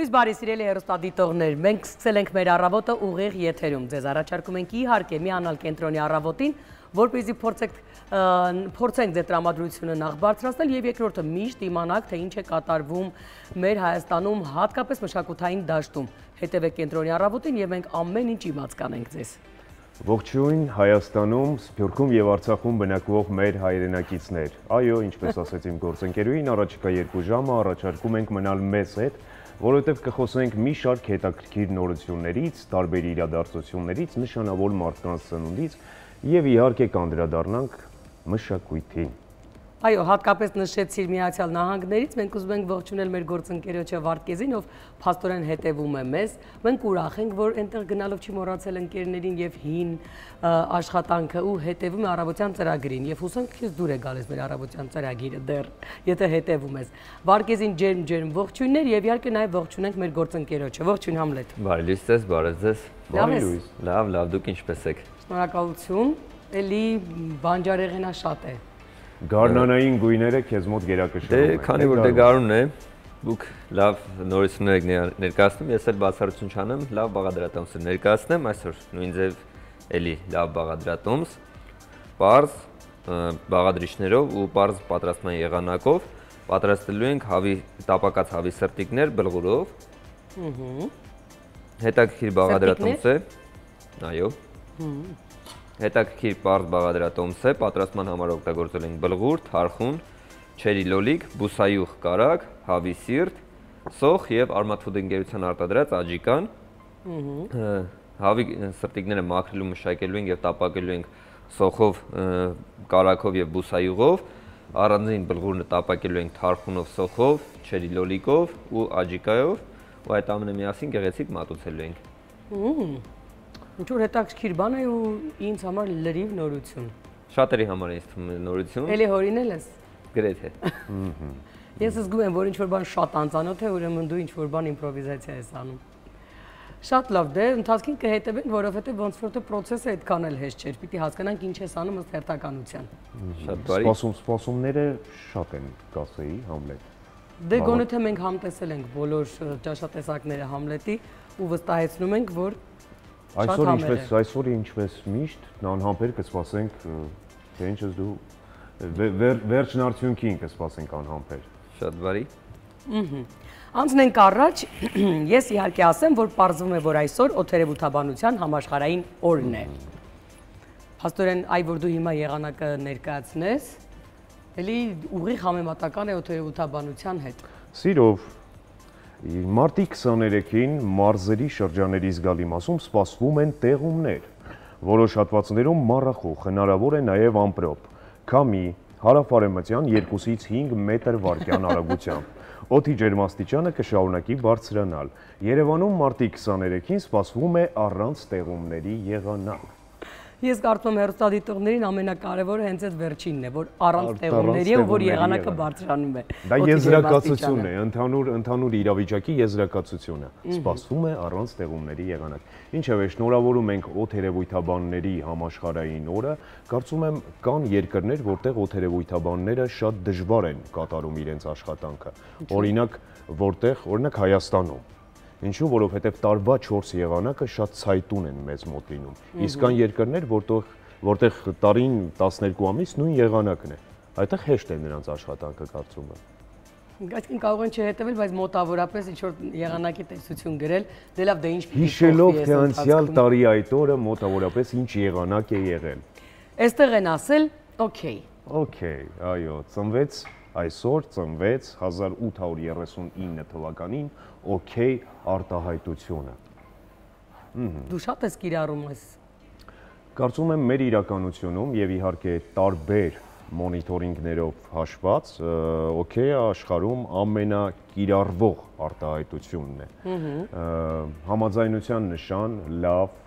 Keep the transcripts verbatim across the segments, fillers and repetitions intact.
Լույս բարի սիրելի հեռուստադիտողներ, մենք սկսել ենք մեր առավոտը ուղիղ եթերում, ձեզ առաջարկում ենք իհարկե միանալ կենտրոնի առավոտին, որպեսզի փորձենք փորձենք ձեր տրամադրությունը նախ բարձրացնել եւ երկրորդը միշտ իմանաք, թե ինչ է կատարվում մեր Հայաստանում, հատկապես մշակութային դաշտում։ Հետևեք կենտրոնի առավոտին եւ մենք ամեն ինչ իմաց կանենք ձեզ։ Ողջույն Հայաստանում, Սփյուռքում եւ Արցախում բնակվող մեր հայրենակիցներ։ Այո, ինչպես ասեց իմ գործընկերուհին, առաջիկա երկու ժամը առաջարկում ենք մնալ մեզ հետ, որովհետեւ կխոսենք մի շարք հետաքրքիր նորություններից, տարբեր իրադարձություններից, նշանավոր մարդկանց սնունդից եւ իհարկե կանդրադառնանք մշակույթին։ Այո, հատկապես նշեցիր Միացյալ Նահանգներից, մենք ուզում ենք ողջունել մեր գործընկերոջը Վարդգեզին, ով փաստորեն հետևում է մեզ։ Մենք ուրախ ենք, որ այնտեղ գնալով չի մոռացել ընկերներին եւ հին աշխատանքը ու հետևում է առավոտյան ծրագրին։ Եվ հուսանք քեզ դուր է գալիս մեր առավոտյան ծրագիրը դեռ, եթե հետևում ես։ Վարդգեզին ջերմ-ջերմ ողջույններ եւ իհարկե նաեւ ողջունենք մեր գործընկերոջը։ Ողջույն Համլետ։ Բարի լույս ձեզ, բարև ձեզ։ Բարի լույս։ Լավ, լավ, դուք ինչպե՞ս եք։ Շնորհակալություն։ Էլի բանջարեղենա շատ է։ Գարնանային գույները քեզ մոտ գերակշռում են։ Դե քանի որ դե գարունն է, դուք լավ նորություններ եք ներկայացնում, ես էլ բացառություն չանեմ, լավ բաղադրատոմս ներկայացնեմ, այսօր նույն ձև էլի լավ բաղադրատոմս, պարզ բաղադրիչներով ու պարզ պատրաստման եղանակով պատրաստելու ենք հավի տապակած հավի սրտիկներ բլղուրով։ Հետաքրքիր բաղադրատոմս է։ Այո։ Հետաքրքիր պարզ բաղադրատոմս է, պատրաստման համար օգտագործել ենք բլղուր, թարխուն, չերի լոլիկ, բուսայուղ կարագ, հավի սիրտ, սոխ եւ Armat Food ընկերության արտադրած աջիկան։ Հավի սրտիկները մաքրելու, մշակելու ենք եւ տապակելու ենք սոխով, կարագով եւ բուսայուղով, առանձին բլղուրը տապակելու ենք թարխունով, սոխով, չերի լոլիկով ու աջիկայով, ու այդ ամենը միասին գեղեցիկ մատուցելու ենք։ Ինչ-որ հետաքրքիր բան է ու ինձ համար լրիվ նորություն։ Շատերի համար ինձ թվում է նորություն։ Էլի հորինել ես։ Գրեթե։ Ես զգում եմ, որ ինչ-որ բան շատ անծանոթ է, ուրեմն դու ինչ-որ բան իմպրովիզացիա ես անում։ Շատ լավ, դե ընթացքին կհետևենք, որովհետև ոնց որ թե process-ը այդքան էլ հեշտ չէր, պիտի հասկանանք ինչ ես անում ըստ հերթականության։ Շատ բարի։ Սպասում, սպասումները շատ են, կասեի, Համլետ։ Դե գոնե թե մենք համտեսել ենք բոլոր ճաշատեսակները Համլետի ու վստահեցնում ենք, որ Այսօր ինչպես այսօր ինչպես միշտ անհամբեր կսպասենք, թե ինչ ես դու վերջին արդյունքին կսպասենք անհամբեր։ Շատ բարի։ Անցնենք առաջ, ես իհարկե ասեմ, որ պարզվում է, որ այսօր օդերևութաբանության համաշխարհային օրն է։ Փաստորեն, այ որ դու հիմա եղանակը ներկայացնես, էլի ուղիղ համեմատական է օդերևութաբանության հետ։ Սիրով Մարտի քսաներեքին մարզերի շրջաների զգալի մասում սպասվում են տեղումներ, որոշ հատվածներում մառախուղ, հնարավոր է նաև ամպրոպ, քամի, հարավ-արևմտյան երկուսից հինգ մետր վարկյան արագությամբ։ Օդի ջերմաստիճանը կշարունակի բարձրանալ։ Երևանում մարտի քսաներեքին սպասվում է առանց տեղումների եղանակ։ Ես կարծում եմ հեռուստադիտողներին ամենակարևորը հենց այդ վերջինն է, որ առանց տեղումների ու որ եղանակը բարձրանում է։ Դա եզրակացություն է, ընդհանուր ընդհանուր իրավիճակի եզրակացությունը։ Սպասվում է առանց տեղումների եղանակ։ Ինչևէ, շնորհավորում ենք օդերևույթաբանների համաշխարհային օրը, կարծում եմ կան երկրներ, որտեղ օդերևույթաբանները շատ դժվար են կատարում իրենց աշխատանքը։ Օրինակ, որտեղ, օրինակ Հայաստանում Ինչու, որովհետև տարվա չորս եղանակը շատ ցայտուն են մեզ մոտ լինում։ Իսկ կան երկրներ, որտեղ որտեղ տարին տասներկու ամիս նույն եղանակն է։ Այդտեղ հեշտ է նրանց աշխատանքը կարծում եմ։ Այսինքն կարող են չհետևել, բայց մոտավորապես ինչ-որ եղանակի տեսություն գրել, դե լավ, դե ինչ պիտի հիշելով, թե անցյալ տարի այդ օրը մոտավորապես ինչ եղանակ է եղել։ Այստեղ են ասել, օքեյ։ Օքեյ, այո, ծնվեց այսօր ծնվեց հազար ութ հարյուր երեսունինը թվականին օքեյ արտահայտությունը։ Դու շատ ես կիրառում ես։ Կարծում եմ մեր իրականությունում եւ իհարկե տարբեր մոնիտորինգներով հաշված օքեյը աշխարհում ամենակիրառվող արտահայտությունն է։ Համաձայնության նշան, լավ,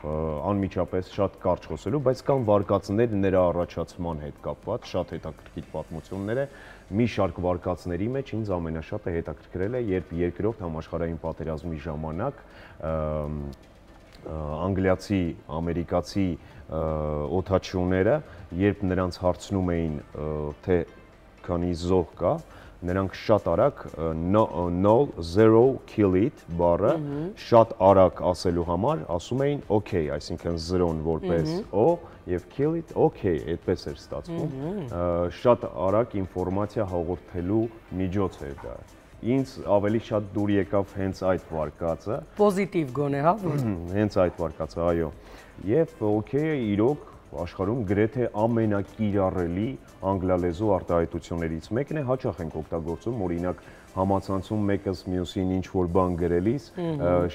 անմիջապես շատ կարճ խոսելու, բայց կան վարկածներ նրա առաջացման հետ կապված, շատ հետաքրքիր պատմություններ է։ Մի շարք վարկածների մեջ ինձ ամենաշատը հետաքրքրել է, երբ երկրորդ համաշխարհային պատերազմի ժամանակ անգլիացի, ամերիկացի օդաչուները, երբ նրանց հարցնում էին, թե քանի զոհ կա, նրանք շատ արագ null zero kill it բառը շատ արագ ասելու համար ասում էին okay, այսինքն զրոն որպես o եւ kill it okay, այդպես էր ստացվում։ Շատ արագ ինֆորմացիա հաղորդելու միջոց էր դա։ Ինձ ավելի շատ դուր եկավ հենց այդ վարկածը։ Պոզիտիվ գոնե, հա, որ հենց այդ վարկածը, այո։ Եվ okay-ը իրոք աշխարհում գրեթե ամենակիրառելի անգլալեզու արտահայտություններից մեկն է, հաճախ ենք օգտագործում, օրինակ համացանցում մեկս մյուսին ինչ-որ բան գրելիս,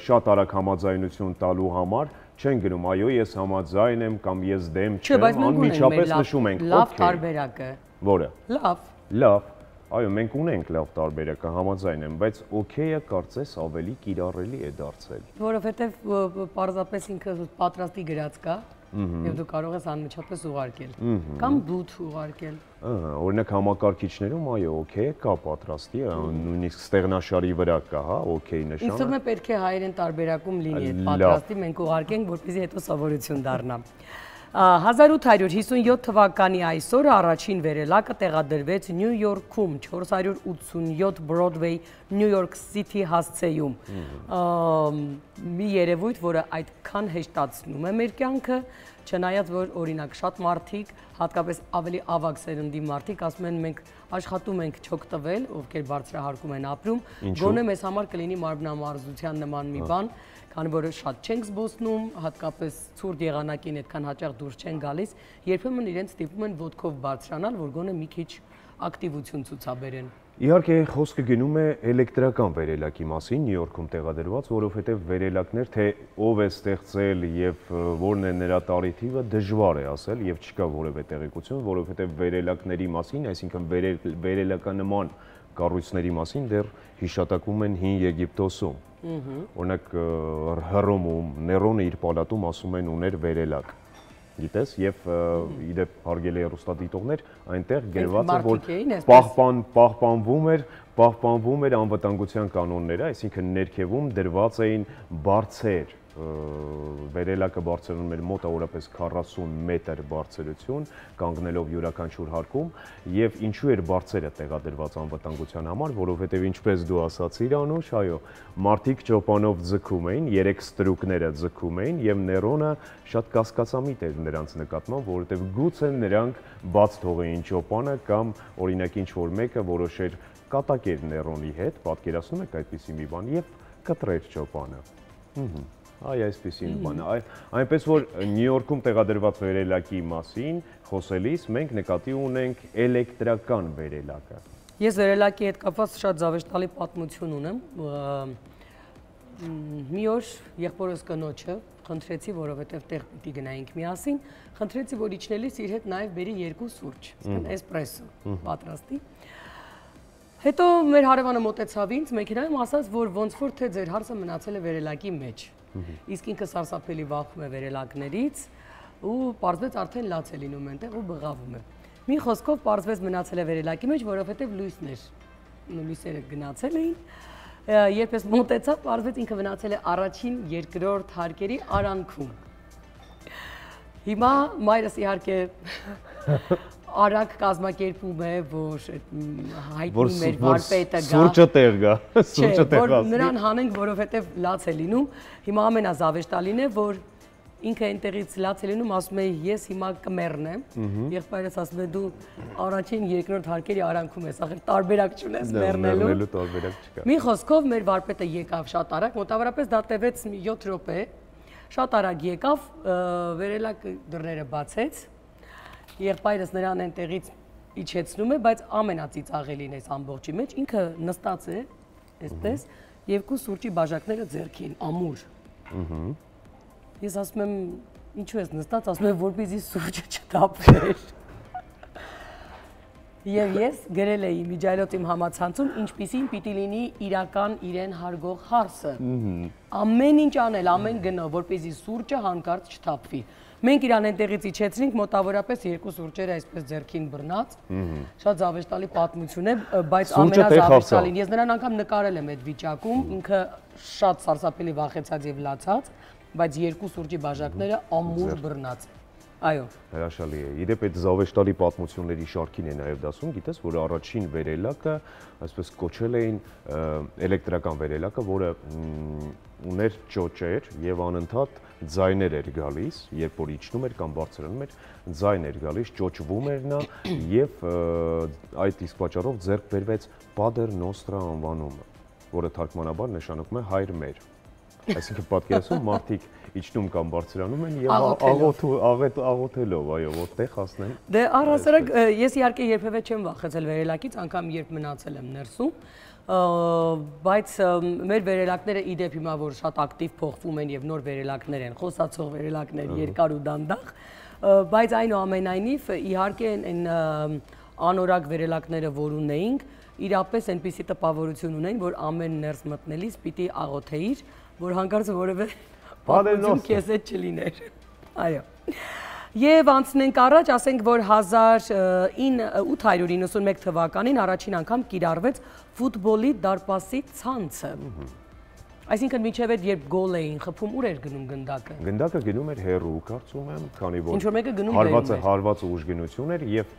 շատ արագ համաձայնություն տալու համար չեն գրում, այո, ես համաձայն եմ կամ ես դեմ չեմ, անմիջապես նշում ենք լավ տարբերակը։ Որը։ Լավ։ Լավ։ Այո, մենք ունենք լավ տարբերակը, համաձայն եմ, բայց okay-ը կարծես ավելի կիրառելի է դարձել։ Որովհետև պարզապես ինքը պատրաստի գրած կա, եւ դու կարող ես անմիջապես ուղարկել կամ բութ ուղարկել։ Օրինակ համակարգիչներում այո, okay կա պատրաստի, նույնիսկ ստեղնաշարի վրա կա, հա, okay նշանը։ Ինձ թվում է պետք է հայերեն տարբերակում լինի այդ պատրաստի, մենք ուղարկենք, որպեսզի հետո սովորություն դառնա։ հազար ութ հարյուր հիսունյոթ թվականի այսօրը առաջին վերելակը տեղադրվեց Նյու Յորքում չորս հարյուր ութսունյոթ Broadway New York City հասցեում։ Մի երևույթ, որը այդքան հեշտացնում է մեր կյանքը, չնայած որ օրինակ շատ մարդիկ, հատկապես ավելի ավագ սերնդի մարդիկ ասում են մենք աշխատում ենք չօգտվել, ովքեր բարձրահարկում են ապրում, գոնե մեզ համար կլինի մարմնամարզության նման մի բան, քանի որ շատ չենք զբոսնում, հատկապես ցուրտ եղանակին այդքան հաճախ դուրս չեն գալիս, երբեմն իրենց ստիպում են ոտքով բարձրանալ, որ գոնե մի քիչ ակտիվություն ցուցաբերեն։ Իհարկե խոսքը գնում է էլեկտրական վերելակի մասին Նյու Յորքում տեղադրված, որովհետև վերելակներ թե ով է ստեղծել եւ որն է նրա տարիթիվը դժվար է ասել եւ չկա որևէ տեղեկություն, որովհետև վերելակների մասին, այսինքն վերելականման կառույցների մասին դեռ հիշատակվում են հին Եգիպտոսում։ Օրինակ Հռոմում Ներոնը իր պալատում ասում են ուներ վերելակ։ Գիտես, եւ իդեպ հարգելի հեռուստադիտողներ, այնտեղ գրված է, որ պահպան պահպանվում էր, պահպանվում էր անվտանգության կանոնները, այսինքն ներքևում դրված էին բարձր վերելակը բարձրանում էր մոտավորապես քառասուն մետր բարձրություն, կանգնելով յուրաքանչյուր հարկում, եւ ինչու էր բարձրը տեղադրված անվտանգության համար, որովհետեւ ինչպես դու ասացիր, Անուշ, այո, մարդիկ ճոպանով ձգում էին, երեք ստրուկները ձգում էին եւ Ներոնը շատ կասկածամիտ էր նրանց նկատմամբ, որովհետեւ գուցե նրանք բաց թողեին ճոպանը կամ օրինակ ինչ-որ մեկը որոշեր կատակեր Ներոնի հետ, պատկերացնում եք այդպիսի մի բան եւ կտրեր ճոպանը։ Այ այսպեսին բան է, այնպես որ Նյու Յորքում տեղադրված վերելակի մասին խոսելիս մենք նկատի ունենք էլեկտրական վերելակը։ Ես վերելակի հետ կապված շատ զավեշտալի պատմություն ունեմ։ Մի օր եղբորս կնոջը խնդրեցի, որովհետև տեղ պիտի գնայինք միասին, խնդրեցի, որ իջնելիս իր հետ նաև բերի երկու սուրճ, էսպրեսո պատրաստի։ Հետո մեր հարևանը մոտեցավ ինձ մեքենայում, ասաց, որ ոնց որ թե ձեր հարցը մնացել է վերելակի մեջ։ Իսկ ինքը սարսափելի վախում է վերելակներից ու պարզվեց արդեն լաց է լինում այնտեղ ու բղավում է։ Մի խոսքով պարզվեց մնացել է վերելակի մեջ, որովհետև լույսն էր, լույսերը գնացել էին։ Երբ ես մոտեցա, պարզվեց ինքը մնացել է առաջին, երկրորդ հարկերի արանքում։ Հիմա մայրս իհարկե արագ կազմակերպում է, որ հայտնի մեր վարպետը գա։ Սուրճը տեղ գա, սուրճը տեղ որ նրան հանենք, որովհետև լաց է լինում։ Հիմա ամենազավեշտալին է, որ ինքը այնտեղից լաց է լինում, ասում է ես հիմա կմեռնեմ, եղբայրս ասում է դու առաջին երկրորդ հարկերի արանքում ես, ախր տարբերակ չունես մեռնելու։ Մեռնելու տարբերակ չկա։ Մի խոսքով մեր վարպետը եկավ շատ արագ, մոտավորապես դա տևեց յոթ րոպե, շատ արագ եկավ, վերելակ դռները բացեց, եղբայրս նրան այնտեղից իջեցնում է, բայց ամենածիծաղելին էս ամբողջի մեջ ինքը նստած է, այսպես, երկու սուրճի բաժակները ձեռքին, ամուր։ Ես ասում եմ, ինչու ես նստած, ասում եմ, որպեսզի սուրճը չտապվեր։ Եվ ես գրել էի միջայլոց իմ համացանցում, ինչպիսին պիտի լինի իրական իրեն հարգող հարսը։ Ամեն ինչ անել, ամեն գնով, որպեսզի սուրճը հանկարծ չթափվի։ Մենք իրան այնտեղից իջեցրինք, մոտավորապես երկու սուրճերը այսպես ձեռքին բռնած։ Շատ զավեշտալի պատմություն է, բայց ամենազավեշտալին ես նրան անգամ նկարել եմ այդ վիճակում, ինքը շատ սարսափելի վախեցած եւ լացած, բայց երկու սուրճի բաժակները ամուր բռնած։ Այո։ Հրաշալի է։ Իդեպ այդ զավեշտալի պատմությունների շարքին է նաև դասում, գիտես, որ առաջին վերելակը, այսպես կոչել էին էլեկտրական վերելակը, որը ուներ ճոճեր եւ անընդհատ ձայներ էր գալիս, երբ որ իջնում էր կամ բարձրանում էր, ձայն էր գալիս, ճոճվում էր նա եւ այդ իսկ պատճառով ձեռք բերվեց Pater Nostra անվանումը, որը թարգմանաբար նշանակում է հայր մեր։ Այսինքն պատկերացնում մարդիկ իջնում կամ բարձրանում են եւ աղոթելով, այո, որտեղ հասնեն։ Դե առհասարակ ես իհարկե երբևէ չեմ վախեցել վերելակից, անգամ երբ մնացել եմ ներսում, բայց մեր վերելակները ի դեպ հիմա որ շատ ակտիվ փոխվում են եւ նոր վերելակներ են, խոսացող վերելակներ, երկար ու դանդաղ, բայց այնուամենայնիվ իհարկե այն անորակ վերելակները, որ ունեինք, իրապես այնպիսի տպավորություն ունեն, որ ամեն ներս մտնելիս պիտի աղոթեիր, որ հանկարծ որևէ պատմություն քեզ հետ չլիներ։ Այո։ Եվ անցնենք առաջ, ասենք, որ հազար ութ հարյուր իննսունմեկ թվականին առաջին անգամ կիրառվեց ֆուտբոլի դարպասի ցանցը։ Այսինքն միջև այդ երբ գոլ էին խփում, ուր էր գնում գնդակը։ Գնդակը գնում էր հեռու, կարծում եմ, քանի որ ինչ-որ մեկը գնում հարվածը հարվածը ուժգնություն էր եւ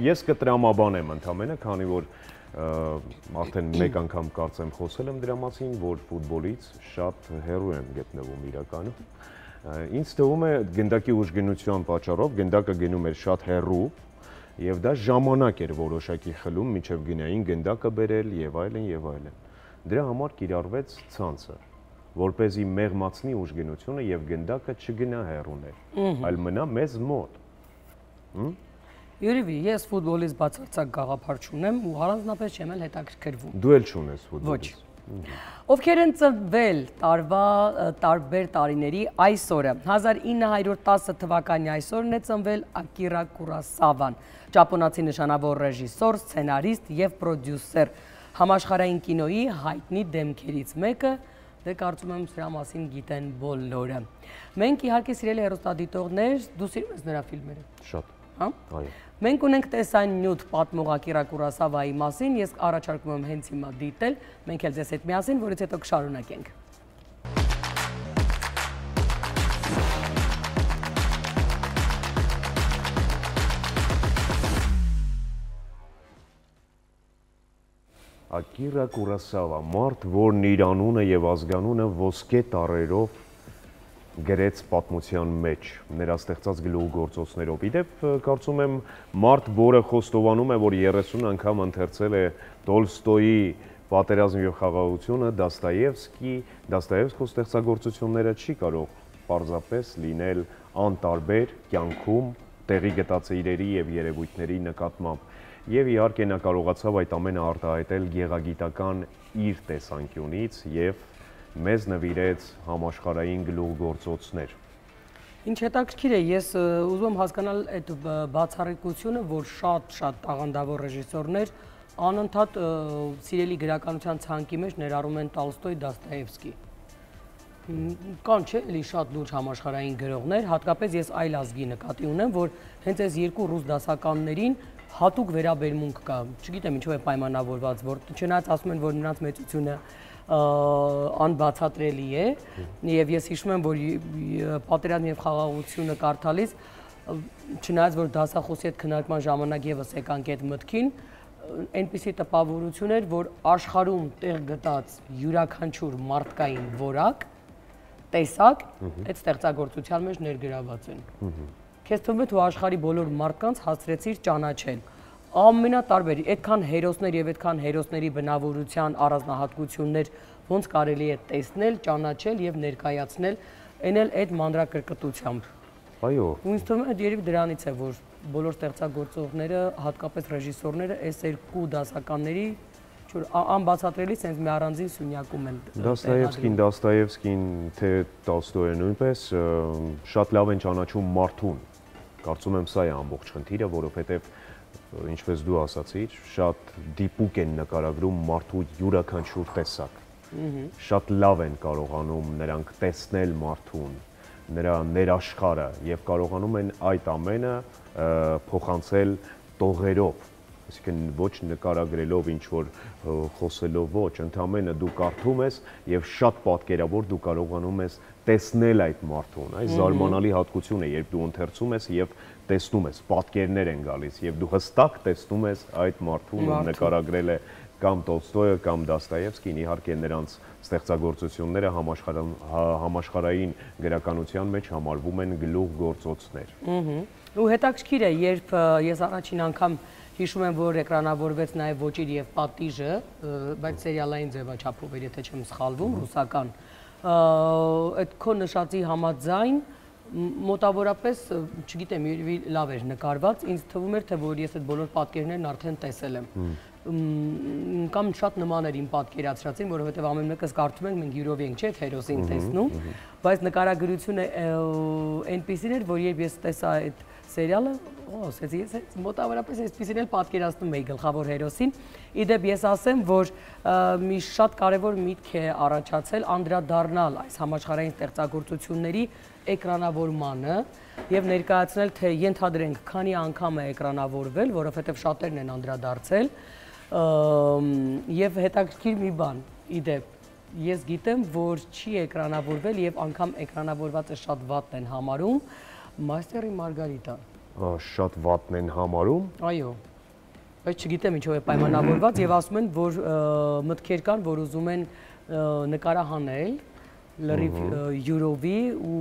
ես կտրամաբանեմ ընդամենը, քանի որ արդեն մեկ անգամ կարծեմ խոսել եմ դրա մասին, որ ֆուտբոլից շատ հեռու եմ գտնվում իրականում։ Ինձ թվում է գնդակի ուժգնության պատճառով գնդակը գնում էր շատ հեռու եւ դա ժամանակ էր որոշակի խլում մինչեւ գնային գնդակը բերել եւ այլն եւ այլն։ Դրա համար կիրառվեց ցանցը, որ เป զի մեղմացնի ուժգնությունը եւ գնդակը չգնա հեռուներ, այլ մնա մեզ մոտ։ Յուրիվի, ես ֆուտբոլից բացարձակ գաղափար չունեմ ու առանձնապես չեմ էլ հետաքրքրվում։ Դու էլ չունես ֆուտբոլից։ Ովքեր են ծնվել տարվա տարբեր տարիների այսօրը։ հազար ինը հարյուր տասը թվականի այսօրն է ծնվել Ակիրա Կուրոսավան, ճապոնացի նշանավոր ռեժիսոր, սցենարիստ եւ պրոդյուսեր, համաշխարհային կինոյի հայտնի դեմքերից մեկը, դե կարծում եմ սրա մասին գիտեն բոլորը։ Մենք իհարկե սիրելի հեռուստադիտողներ, դու սիրում ես նրա ֆիլմերը։ Շատ։ Հա։ Այո։ Մենք ունենք տեսանյութ պատմող Ակիրա Կուրոսավայի մասին, ես առաջարկում եմ հենց հիմա դիտել, մենք էլ ձեզ հետ միասին, որից հետո կշարունակենք։ Ակիրա Կուրոսավա, մարդ, որն իր անունը եւ ազգանունը ոսկե տառերով գրեց պատմության մեջ, նրա ստեղծած գլուխգործոցներով։ Իդեպ կարծում եմ մարդ, որը խոստովանում է, որ երեսուն անգամ ընթերցել է Տոլստոյի Պատերազմ եւ խաղաղությունը, Դոստոևսկի, Դոստոևսկու ստեղծագործությունները չի կարող պարզապես լինել անտարբեր կյանքում տեղի գտած իրերի եւ երևույթների նկատմամբ։ Եվ իհարկե նա կարողացավ այդ ամենը արտահայտել գեղագիտական իր տեսանկյունից եւ մեզ նվիրեց համաշխարհային գլուխգործոցներ։ Ինչ հետաքրքիր է, ես ուզում եմ հասկանալ այդ բացառիկությունը, որ շատ-շատ տաղանդավոր ռեժիսորներ անընդհատ սիրելի գրականության ցանկի մեջ ներառում են Տոլստոյ, Դոստոևսկի։ Կան չէ՞ էլի շատ լուրջ համաշխարհային գրողներ, հատկապես ես այլ ազգի նկատի ունեմ, որ հենց այս երկու ռուս դասականներին հատուկ վերաբերմունք կա, չգիտեմ ինչով է պայմանավորված, որ չնայած ասում են, որ նրանց մեծությունը անբացատրելի է, եւ ես հիշում եմ, որ Պատերազմ եւ խաղաղությունը կարդալիս, չնայած որ դասախոսի հետ քննարկման ժամանակ եւս եկանք այդ մտքին, այնպիսի տպավորություն էր, որ աշխարհում տեղ գտած յուրաքանչյուր մարդկային որակ, տեսակ, այդ ստեղծագործության մեջ ներգրաված են։ Քեզ թվում է, თუ աշխարհի բոլոր մարդկանց հասցրեցիր ճանաչել ամենատարբեր, այդքան հերոսներ եւ այդքան հերոսների բնավորության առանձնահատկություններ ոնց կարելի է տեսնել, ճանաչել եւ ներկայացնել, այն էլ այդ մանրակրկտությամբ։ Այո։ Ու ինձ թվում է, երբ դրանից է, որ բոլոր ստեղծագործողները, հատկապես ռեժիսորները, այս երկու դասականների անբացատրելի sense մի առանձին սյունյակում են։ Դոստոևսկին, Դոստոևսկին, թե Տոլստոյը նույնպես շատ լավ են ճանաչում մարդուն։ Կարծում եմ սա է ամբողջ խնդիրը, որովհետև ինչպես դու ասացիր, շատ դիպուկ են նկարագրում մարդու յուրաքանչյուր տեսակ։ Շատ լավ են կարողանում նրանք տեսնել մարդուն, նրա ներաշխարհը եւ կարողանում են այդ ամենը փոխանցել տողերով, այսինքն ոչ նկարագրելով ինչ որ խոսելով ոչ, ընդամենը դու կարդում ես եւ շատ պատկերավոր դու կարողանում ես տեսնել այդ մարդուն, այս զարմանալի հատկություն է, երբ դու ընթերցում ես եւ տեսնում ես, պատկերներ են գալիս եւ դու հստակ տեսնում ես այդ մարդուն, ում նկարագրել է կամ Տոլստոյը կամ Դոստոևսկին, իհարկե նրանց ստեղծագործությունները համաշխարհային գրականության մեջ համարվում են գլուխ գործոցներ։ Ու հետաքրքիր է, երբ ես առաջին անգամ հիշում եմ, որ էկրանավորվեց նաև Ոճիր եւ պատիժը, բայց սերիալային ձևաչափով էր, եթե չեմ սխալվում, ռուսական։ Այդ քո նշածի համաձայն մոտավորապես, չգիտեմ, լավ էր նկարված, ինձ թվում էր, թե որ ես այդ բոլոր պատկերներն արդեն տեսել եմ։ Կամ շատ նման էր իմ պատկերացրածին, որովհետև ամեն մեկս կարդում ենք, մենք յուրով ենք, չէ՞, հերոսին տեսնում, բայց նկարագրությունը այնպիսին էր, որ երբ ես տեսա այդ սերիալը, ասեցի, ես մոտավորապես այսպիսին էլ պատկերացնում էի գլխավոր հերոսին։ Իդեպ ես ասեմ, որ մի շատ կարևոր միտք է առաջացել անդրադառնալ այս համաշխարհային ստեղծագործությունների էկրանավորմանը եւ ներկայացնել, թե ենթադրենք քանի անգամ է էկրանավորվել, որովհետեւ շատերն են անդրադարձել եւ հետաքրքիր մի բան, իդեպ ես գիտեմ, որ չի էկրանավորվել եւ անգամ էկրանավորվածը շատ վատն են համարում Մաստերի Մարգարիտան։ Շատ վատն են համարում։ Այո։ Բայց չգիտեմ ինչով է պայմանավորված եւ ասում են, որ մտքեր կան, որ ուզում են նկարահանել լրիվ յուրովի ու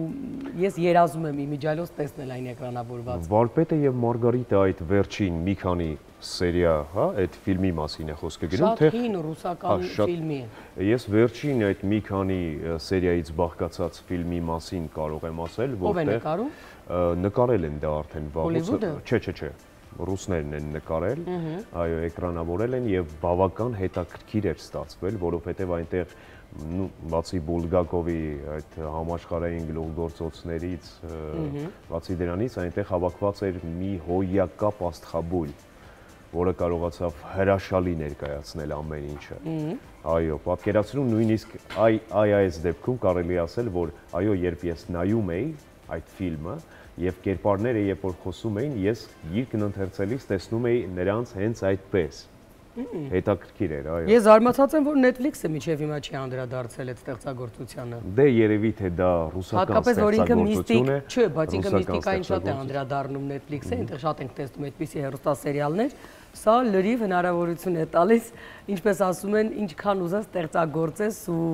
ես երազում եմ իմիջիայլոց տեսնել այն էկրանավորված։ Վարպետը եւ Մարգարիտը այդ վերջին մի քանի սերիա, հա, այդ ֆիլմի մասին է խոսքը գնում, թե շատ հին ռուսական ֆիլմի է։ Ես վերջին այդ մի քանի սերիայից բաղկացած ֆիլմի մասին կարող եմ ասել, որտեղ նկարել են դա արդեն վաղուց, չէ, չէ, չէ, ռուսներն են նկարել, այո, էկրանավորել են եւ բավական հետաքրքիր էր ստացվել, որովհետեւ այնտեղ բացի Բուլգակովի այդ համաշխարհային գլուխգործոցներից, բացի դրանից այնտեղ հավաքված էր մի հոյակապ աստղաբույլ, որը կարողացավ հրաշալի ներկայացնել ամեն ինչը։ Այո, պատկերացնում նույնիսկ այ այս դեպքում կարելի ասել, որ այո, երբ ես նայում էի այդ ֆիլմը եւ կերպարները երբ որ խոսում էին, ես գիրքն ընթերցելիս տեսնում էի նրանց հենց այդպես։ Հետաքրքիր էր, այո։ Ես զարմացած եմ, որ Netflix-ը միջև հիմա չի անդրադարձել այդ ստեղծագործությանը։ Դե երևի թե դա ռուսական ստեղծագործություն է։ Չէ, բայց ինքը միստիկային շատ է անդրադառնում Netflix-ը, այնտեղ շատ ենք տեսնում այդպիսի հեռուստասերիալներ։ Սա լրիվ հնարավորություն է տալիս, ինչպես ասում են, ինչքան ուզես ստեղծագործես ու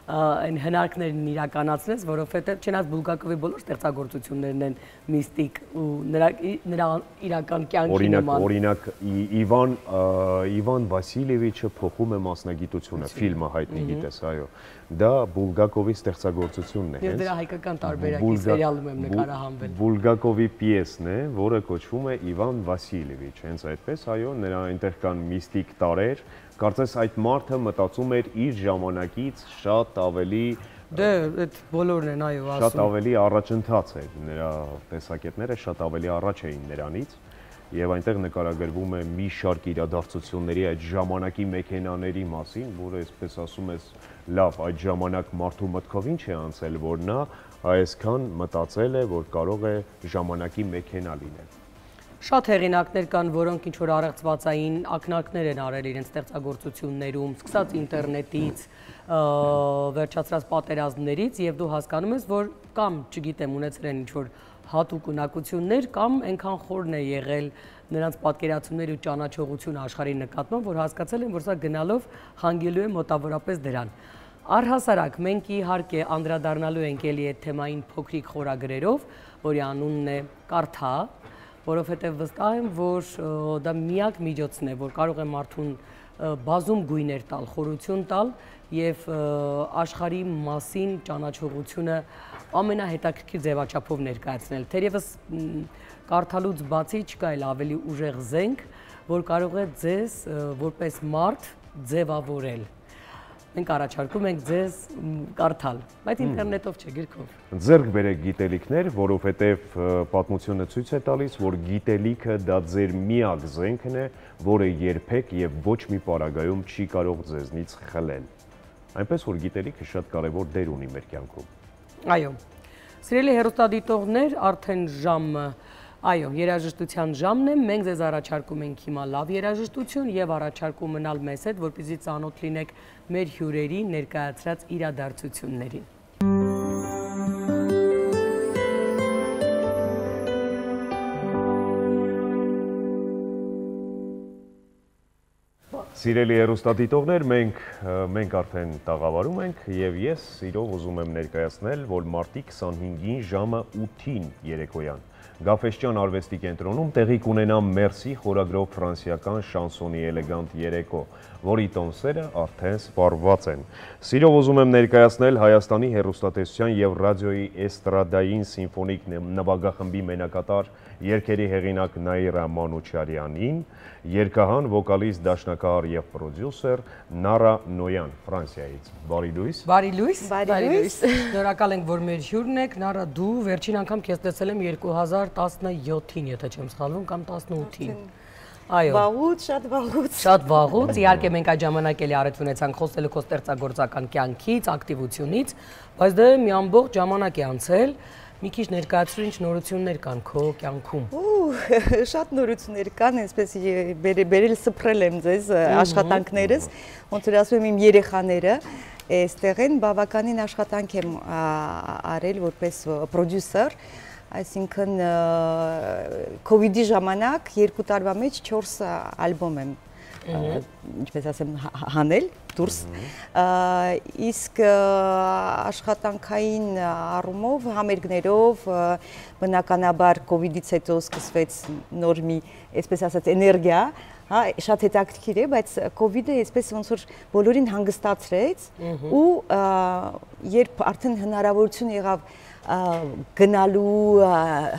այն հնարքներն իրականացնես, որովհետև չնայած Բուլգակովի բոլոր ստեղծագործություններն են միստիկ ու նրա նրա իրական կյանքի նման։ Օրինակ, Իվան Իվան Վասիլևիչը փոխում է մասնագիտությունը, ֆիլմը հայտնի գիտես, այո։ Դա Բուլգակովի ստեղծագործությունն է, հենց։ Ես դրա հայկական տարբերակի սերիալում եմ նկարահանվել։ Բուլգակովի պիեսն է, որը կոչվում է Իվան Վասիլևիչ, հենց այդպես, այո, նրա այնտեղ կան միստիկ տարրեր, կարծես այդ մարդը մտածում էր իր ժամանակից շատ ավելի Դե, այդ բոլորն են, այո, ասում։ Շատ ավելի առաջընթաց էր, նրա տեսակետները շատ ավելի առաջ էին նրանից եւ այնտեղ նկարագրվում է մի շարք իրադարձությունների այդ ժամանակի մեքենաների մասին, որը այսպես ասում ես, լավ, այդ ժամանակ մարդու մտքով ինչ է անցել, որ նա այսքան մտածել է, որ կարող է ժամանակի մեքենա լինել։ Շատ հեղինակներ կան, որոնք ինչ որ առեղծվածային ակնարկներ են արել իրենց ստեղծագործություններում, սկսած ինտերնետից, վերջացրած պատերազմներից եւ դու հասկանում ես, որ կամ, չգիտեմ, ունեցել են ինչ որ հատուկ ունակություններ կամ այնքան խորն է եղել նրանց պատկերացումների ու ճանաչողությունը աշխարհի նկատմամբ, որ հասկացել են, որ սա գնալով հանգելու է մոտավորապես դրան։ Առհասարակ մենք իհարկե անդրադառնալու ենք էլի այդ թեմային փոքրիկ խորագրերով, որի անունն է կարդա, որովհետև վստահ եմ, որ դա միակ միջոցն է, որ կարող է մարդուն բազում գույներ տալ, խորություն տալ եւ աշխարհի մասին ճանաչողությունը ամենահետաքրքիր ձևաչափով ներկայացնել։ Թերևս կարդալուց բացի չկա այլ ավելի ուժեղ զենք, որ կարող է ձեզ որպես մարդ ձևավորել։ Մենք առաջարկում ենք ձեզ կարդալ, բայց ինտերնետով չէ, գրքով։ Ձեռք բերեք գիտելիքներ, որովհետև պատմությունը ցույց է տալիս, որ գիտելիքը դա ձեր միակ զենքն է, որը երբեք եւ ոչ մի պարագայում չի կարող ձեզնից խլել։ Այնպես որ գիտելիքը շատ կարևոր դեր ունի մեր կյանքում։ Այո։ Սիրելի հեռուստադիտողներ, արդեն ժամը Այո, երաժշտության ժամն է, մենք ձեզ առաջարկում ենք հիմա լավ երաժշտություն եւ առաջարկում մնալ մեզ հետ, որպեսզի ծանոթ լինեք մեր հյուրերի ներկայացրած իրադարձություններին։ Սիրելի հեռուստադիտողներ, մենք մենք արդեն տաղավարում ենք եւ ես սիրով ուզում եմ ներկայացնել, որ մարտի քսանհինգին ժամը ութին երեկոյան Գաֆէսճեան արվեստի կենտրոնում տեղի կունենա Մերսի խորագրով ֆրանսիական շանսոնի էլեգանտ երեկո, որի տոմսերը արդեն սպառված են։ Սիրով ուզում եմ ներկայացնել Հայաստանի հեռուստատեսության եւ ռադիոյի էստրադային սիմֆոնիկ նվագախմբի մենակատար երգերի հեղինակ Նաիրա Մանուչարյանին, երգահան, վոկալիստ, դաշնակահար եւ պրոդյուսեր Նարա Նոյան, Ֆրանսիայից։ Բարի լույս։ Բարի լույս։ Բարի լույս։ Շնորհակալ ենք, որ մեր հյուրն եք։ Նարա, դու վերջին անգամ քեզ տեսել եմ երկու հազար տասնյոթին, եթե չեմ սխալվում, կամ տասնութին։ Այո։ Վաղուց, շատ վաղուց։ Շատ վաղուց, իհարկե մենք այդ ժամանակ էլի առիթ ունեցանք խոսելու քո ստեղծագործական կյանքից, ակտիվությունից, բայց դա մի ամբողջ ժամանակ է անցել։ Մի քիչ ներկայացրու, ինչ նորություններ կան քո կյանքում։ Ու շատ նորություններ կան, այսպես բերել սփռել եմ ձեզ աշխատանքներս, ոնց որ ասում եմ իմ երեխաները այստեղ են, բավականին աշխատանք եմ արել որպես պրոդյուսեր, այսինքն կովիդի ժամանակ երկու տարվա մեջ չորս ալբոմ եմ ինչպես ասեմ հանել դուրս իսկ աշխատանքային առումով համերգներով բնականաբար կովիդից հետո սկսվեց նոր մի այսպես ասած էներգիա հա շատ հետաքրքիր է բայց կովիդը այսպես ոնց որ բոլորին հանգստացրեց ու երբ արդեն հնարավորություն եղավ գնալու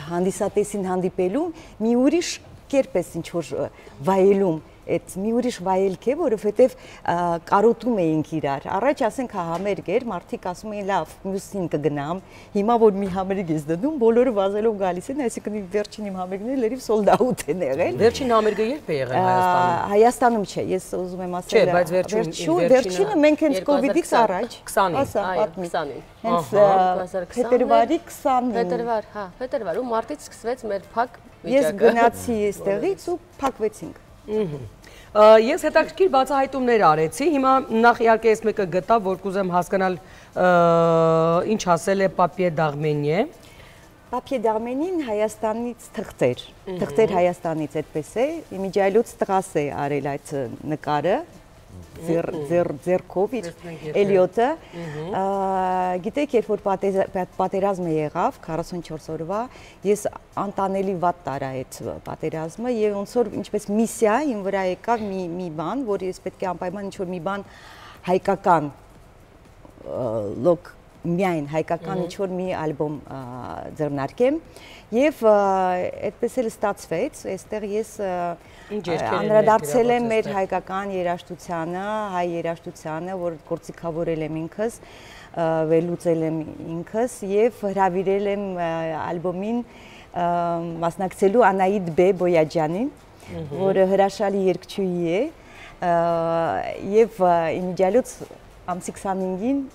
հանդիսատեսին հանդիպելու մի ուրիշ կերպ է ինչ որ վայելում այդ մի ուրիշ վայելք է, որովհետև կարոտում էինք իրար։ Առաջ ասենք համերգ էր, մարդիկ ասում էին լավ, մյուսին կգնամ, հիմա որ մի համերգ ես դնում, բոլորը վազելով գալիս են, այսինքն վերջին իմ համերգները լրիվ sold out են եղել։ Վերջին համերգը երբ է եղել Հայաստանում։ Հայաստանում չէ, ես ուզում եմ ասել։ Չէ, բայց վերջին վերջինը մենք հենց կովիդից առաջ քսանին, հենց փետրվարի քսանին։ Փետրվար, հա, փետրվար ու մարտից սկսվեց մեր փակ վիճակը։ Ես գնացի այստեղից ու փակվեցինք։ Ես հետաքրքիր բացահայտումներ արեցի, հիմա նախ իհարկե ես մեկը գտա, որ կուզեմ հասկանալ ինչ ասել է Պապիե Դաղմենիե։ Պապիե Դաղմենին Հայաստանից թղթեր, թղթեր Հայաստանից այդպես է, իմիջայլուց տղաս է արել այդ նկարը, ձեռքով իր Էլիոտը, գիտեք, երբ որ պատերազմը եղավ, քառասունչորս օրվա, ես անտանելի վատ տարա այդ պատերազմը և ոնց որ ինչպես միսիա իմ վրա եկավ մի բան, որ ես պետք է անպայման ինչ-որ մի բան հայկական, լոկ միայն հայկական ինչ-որ մի ալբոմ ձեռնարկեմ և այդպես էլ ստացվեց, այստեղ ես անդրադարձել եմ մեր հայկական երաժշտությանը, հայ երաժշտությանը, որ գործիքավորել եմ ինքս, վերլուծել եմ ինքս և հրավիրել եմ ալբոմին մասնակցելու Անահիտ Բե Բոյաջյանին, որը հրաշալի երգչուհի է և իմիջիալուց ամսի քսանհինգին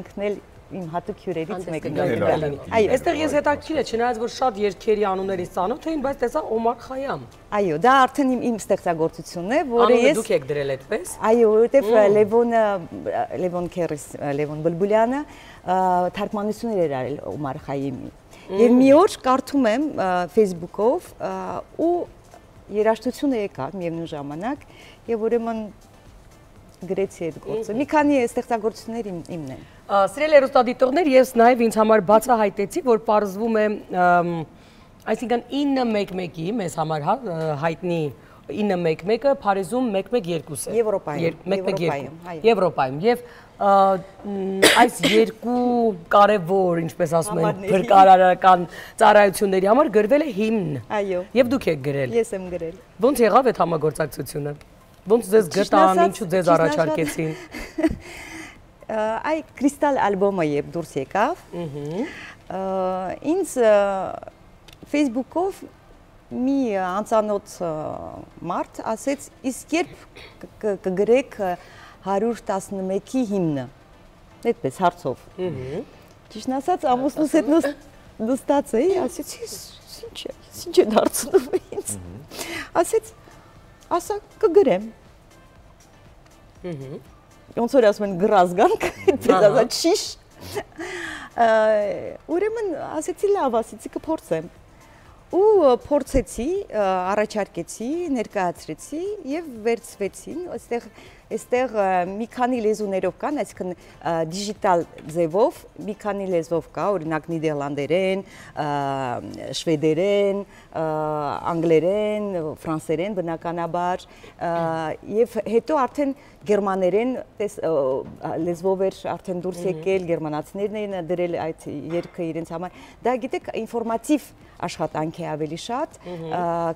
ինքն էլ իմ հատուկ հյուրերից մեկն է։ Այստեղ ես հետաքրքիր է, չնայած որ շատ երգերի անուններից ծանոթ էին, բայց տեսա Օմար Խայամ։ Այո, դա արդեն իմ ստեղծագործությունն է, որը ես… Անունը դուք եք դրել այդպես։ Այո, որովհետև Լևոնը, Լևոն Քերես, Լևոն Բլբուլյանը թարգմանություններ էր արել Օմար Խայամի։ Եվ մի օր կարդում եմ Facebook-ով ու երաժշտությունը եկավ միևնույն ժամանակ եւ ուրեմն գրեցի այդ գործը։ Մի քանի ստեղծագործություններ իմն են։ Սիրելի հեռուստադիտողներ, ես նաև ինձ համար բացահայտեցի, որ պարզվում է, այսինքն ինը մեկ մեկի մեզ համար հայտնի ինը մեկ մեկը Փարիզում մեկ մեկ երկուս է։ Եվրոպայում։ Եվրոպայում։ Եվ այս երկու կարևոր, ինչպես ասում են, փրկարարական ծառայությունների համար գրվել է հիմն։ Այո։ Եվ դուք եք գրել։ Ես եմ գրել։ Ոնց եղավ այդ համագործակցությունը։ Ոնց ձեզ գտան, ինչու ձեզ առաջարկեցին։ Այ Կրիստալ ալբոմը երբ դուրս եկավ, ինձ Facebook-ով մի անծանոթ մարդ ասեց, իսկ երբ կգրեք հարյուր տասնմեկի հիմնը, այդպես հարցով։ Ճիշտն ասած, ամուսնուս հետ նստած էի, ասեցի, Ինչ է, ինչ է դարձնում ինձ։ Ասեց, ասա կգրեմ։ Ոնց որ ասում են գրազգանք, այդպես ասած շիշ։ Ուրեմն ասեցի լավ, ասեցի կփորձեմ։ Ու փորձեցի, առաջարկեցի, ներկայացրեցի եւ վերցվեցին, այստեղ այստեղ մի քանի լեզուներով կան, այսինքն դիջիտալ ձևով մի քանի լեզվով կա, օրինակ նիդերլանդերեն, շվեդերեն, անգլերեն, ֆրանսերեն բնականաբար եւ հետո արդեն գերմաներեն լեզվով էր արդեն դուրս եկել, գերմանացիներն էին դրել այդ երգը իրենց համար։ Դա գիտեք, ինֆորմատիվ աշխատանք է ավելի շատ,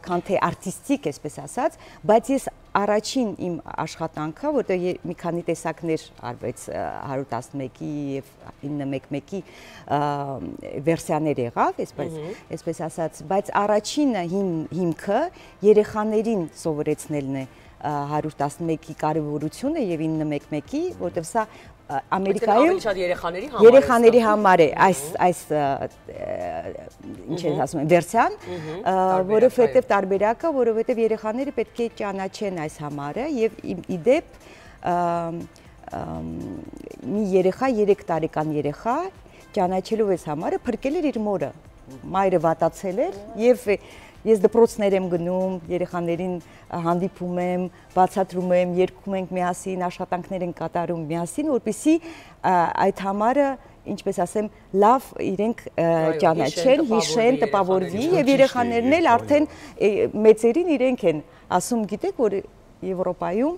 քան թե արտիստիկ, այսպես ասած, բայց ես առաջին իմ աշխատանքը, որտեղ մի քանի տեսակներ արվեց հարյուր տասնմեկի եւ իննմեկի վերսիաներ եղավ, այսպես, այսպես ասած, բայց առաջինը հիմքը երեխաներին սովորեցնելն է հարյուր տասնմեկի կարևորությունը եւ իննմեկի, որտեղ սա Ամերիկայում երեխաների համար է այս այս ինչ են ասում են վերսիան, որովհետև տարբերակը, որովհետև երեխաները պետք է ճանաչեն այս համարը եւ իդեպ մի երեխա երեք տարեկան երեխա ճանաչելով այս համարը փրկել էր իր մորը, մայրը վատացել էր եւ Ես դպրոցներ եմ գնում, երեխաներին հանդիպում եմ, բացատրում եմ, երգում ենք միասին, աշխատանքներ ենք կատարում միասին, որպեսզի այդ համարը, ինչպես ասեմ, լավ իրենք ճանաչեն, հիշեն, տպավորվի եւ երեխաներն էլ արդեն մեծերին իրենք են ասում, գիտեք, որ Եվրոպայում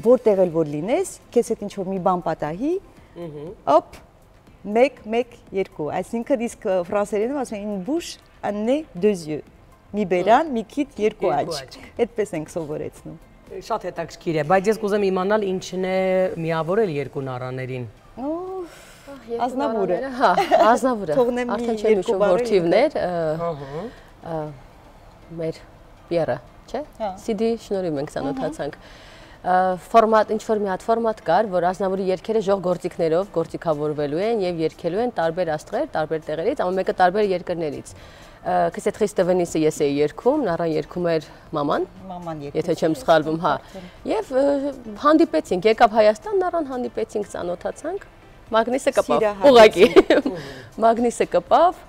որտեղ էլ որ լինես, քեզ հետ ինչ որ մի բան պատահի, օպ, մեկ, մեկ, երկու, այսինքն իսկ ֆրանսերենում ասում են une bouche, un nez, deux yeux մի բերան, մի քիթ, երկու աչք, այդպես ենք սովորեցնում։ Շատ հետաքրքիր է, բայց ես կուզեմ իմանալ ինչն է միավորել երկու նառաներին։ Ազնավուրը։ Հա, ազնավուրը։ Արդեն չեմ հիշում որդիվներ, մեր Պիերը, չէ՞։ Սիդի շնորհիվ ենք ծանոթացանք։ Ֆորմատ, ինչ որ մի հատ ֆորմատ կար, որ ազնավուրի երգերը ժող գործիքներով գործիքավորվելու են եւ երգելու են տարբեր աստղեր, տարբեր տեղերից, ամեն մեկը տարբեր երկրներից։ Քսեթ Խրիստովենիսը ես էի երգում, նառան երգում էր մաման, եթե չեմ սխալվում, հա։ Եվ հանդիպեցինք, եկավ Հայաստան, նառան հանդիպեցինք, ծանոթացանք, Մագնիսը կպավ, ուղղակի։ Մագնիսը կպավ։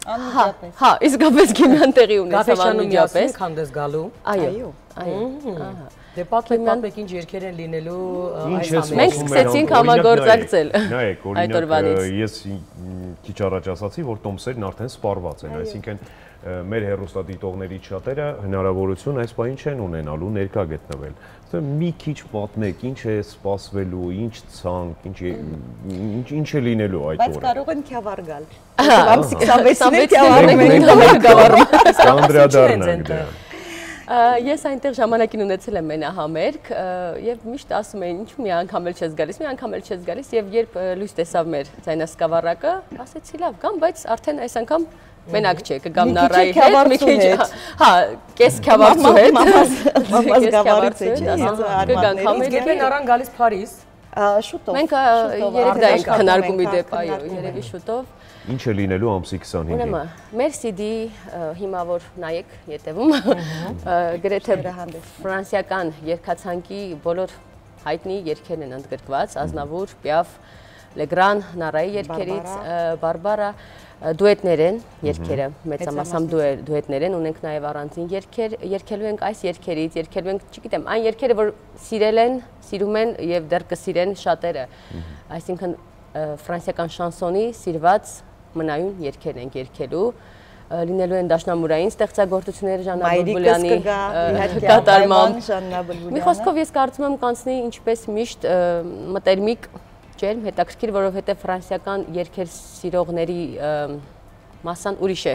Անմիջապես։ Հա, իսկապես քիմիան տեղի ունեցավ անմիջապես։ Քանդես գալու։ Այո, այո։ Դե պատմեք, պատմեք ինչ երգեր են լինելու այս ամենը։ Մենք սկսեցինք համագործակցել։ Նայեք, օրինակ ես քիչ առաջ ասացի, որ տոմսերն արդեն սպառված են, այսինքն մեր հեռուստադիտողներից շատերը հնարավորություն այս բանին չեն ունենալու ներկա գտնվել։ Մի քիչ պատմեք, ինչ է սպասվելու, ինչ ցանկ, ինչ ինչ է լինելու այդ օրը։ Բայց կարող են քյավառ գալ։ Ամսի քսանվեցին քյավառ մենք գավառում։ Կանդրադառնանք դրան։ Ես այնտեղ ժամանակին ունեցել եմ մենահամերգ եւ միշտ ասում էին ինչ մի անգամ էլ չես գալիս, մի անգամ էլ չես գալիս եւ երբ լույս տեսավ մեր ձայնասկավառակը, ասեցի լավ գամ, բայց արդեն այս անգամ մենակ չէ, կգամ նառայի հետ, մի քիչ, հա, կես քյավառցու հետ, մամաս գավառից է, կգանք համերգ։ Երբ են առան գալիս Փարիզ։ Շուտով։ Մենք երեք դա ենք քննարկում իդեպ, այո, երևի շուտով։ Ինչ է լինելու ամսի քսանհինգին։ Ուրեմն, մեր սիդի հիմա որ նայեք ետևում, գրեթե ֆրանսիական երգացանկի բոլոր հայտնի երգերն են ընդգրկված, Ազնավուր, Պիաֆ, Լեգրան, Նառայի երգերից, Բարբարա, դուետներ են երգերը, մեծամասամբ դուետներ են, ունենք նաև առանձին երգեր, երգելու ենք այս երգերից, երգելու ենք, չգիտեմ, այն երգերը, որ սիրել են, սիրում են եւ դեռ կսիրեն շատերը, այսինքն ֆրանսիական շանսոնի սիրված մնայուն երգեր ենք երգելու, լինելու են դաշնամուրային ստեղծագործությունները Ժաննա Բուլբուլյանի կատարմամբ։ Մի խոսքով ես կարծում եմ կանցնի ինչպես միշտ մտերմիկ ջերմ, հետաքրքիր, որովհետև ֆրանսիական երգեր սիրողների մասսան ուրիշ է,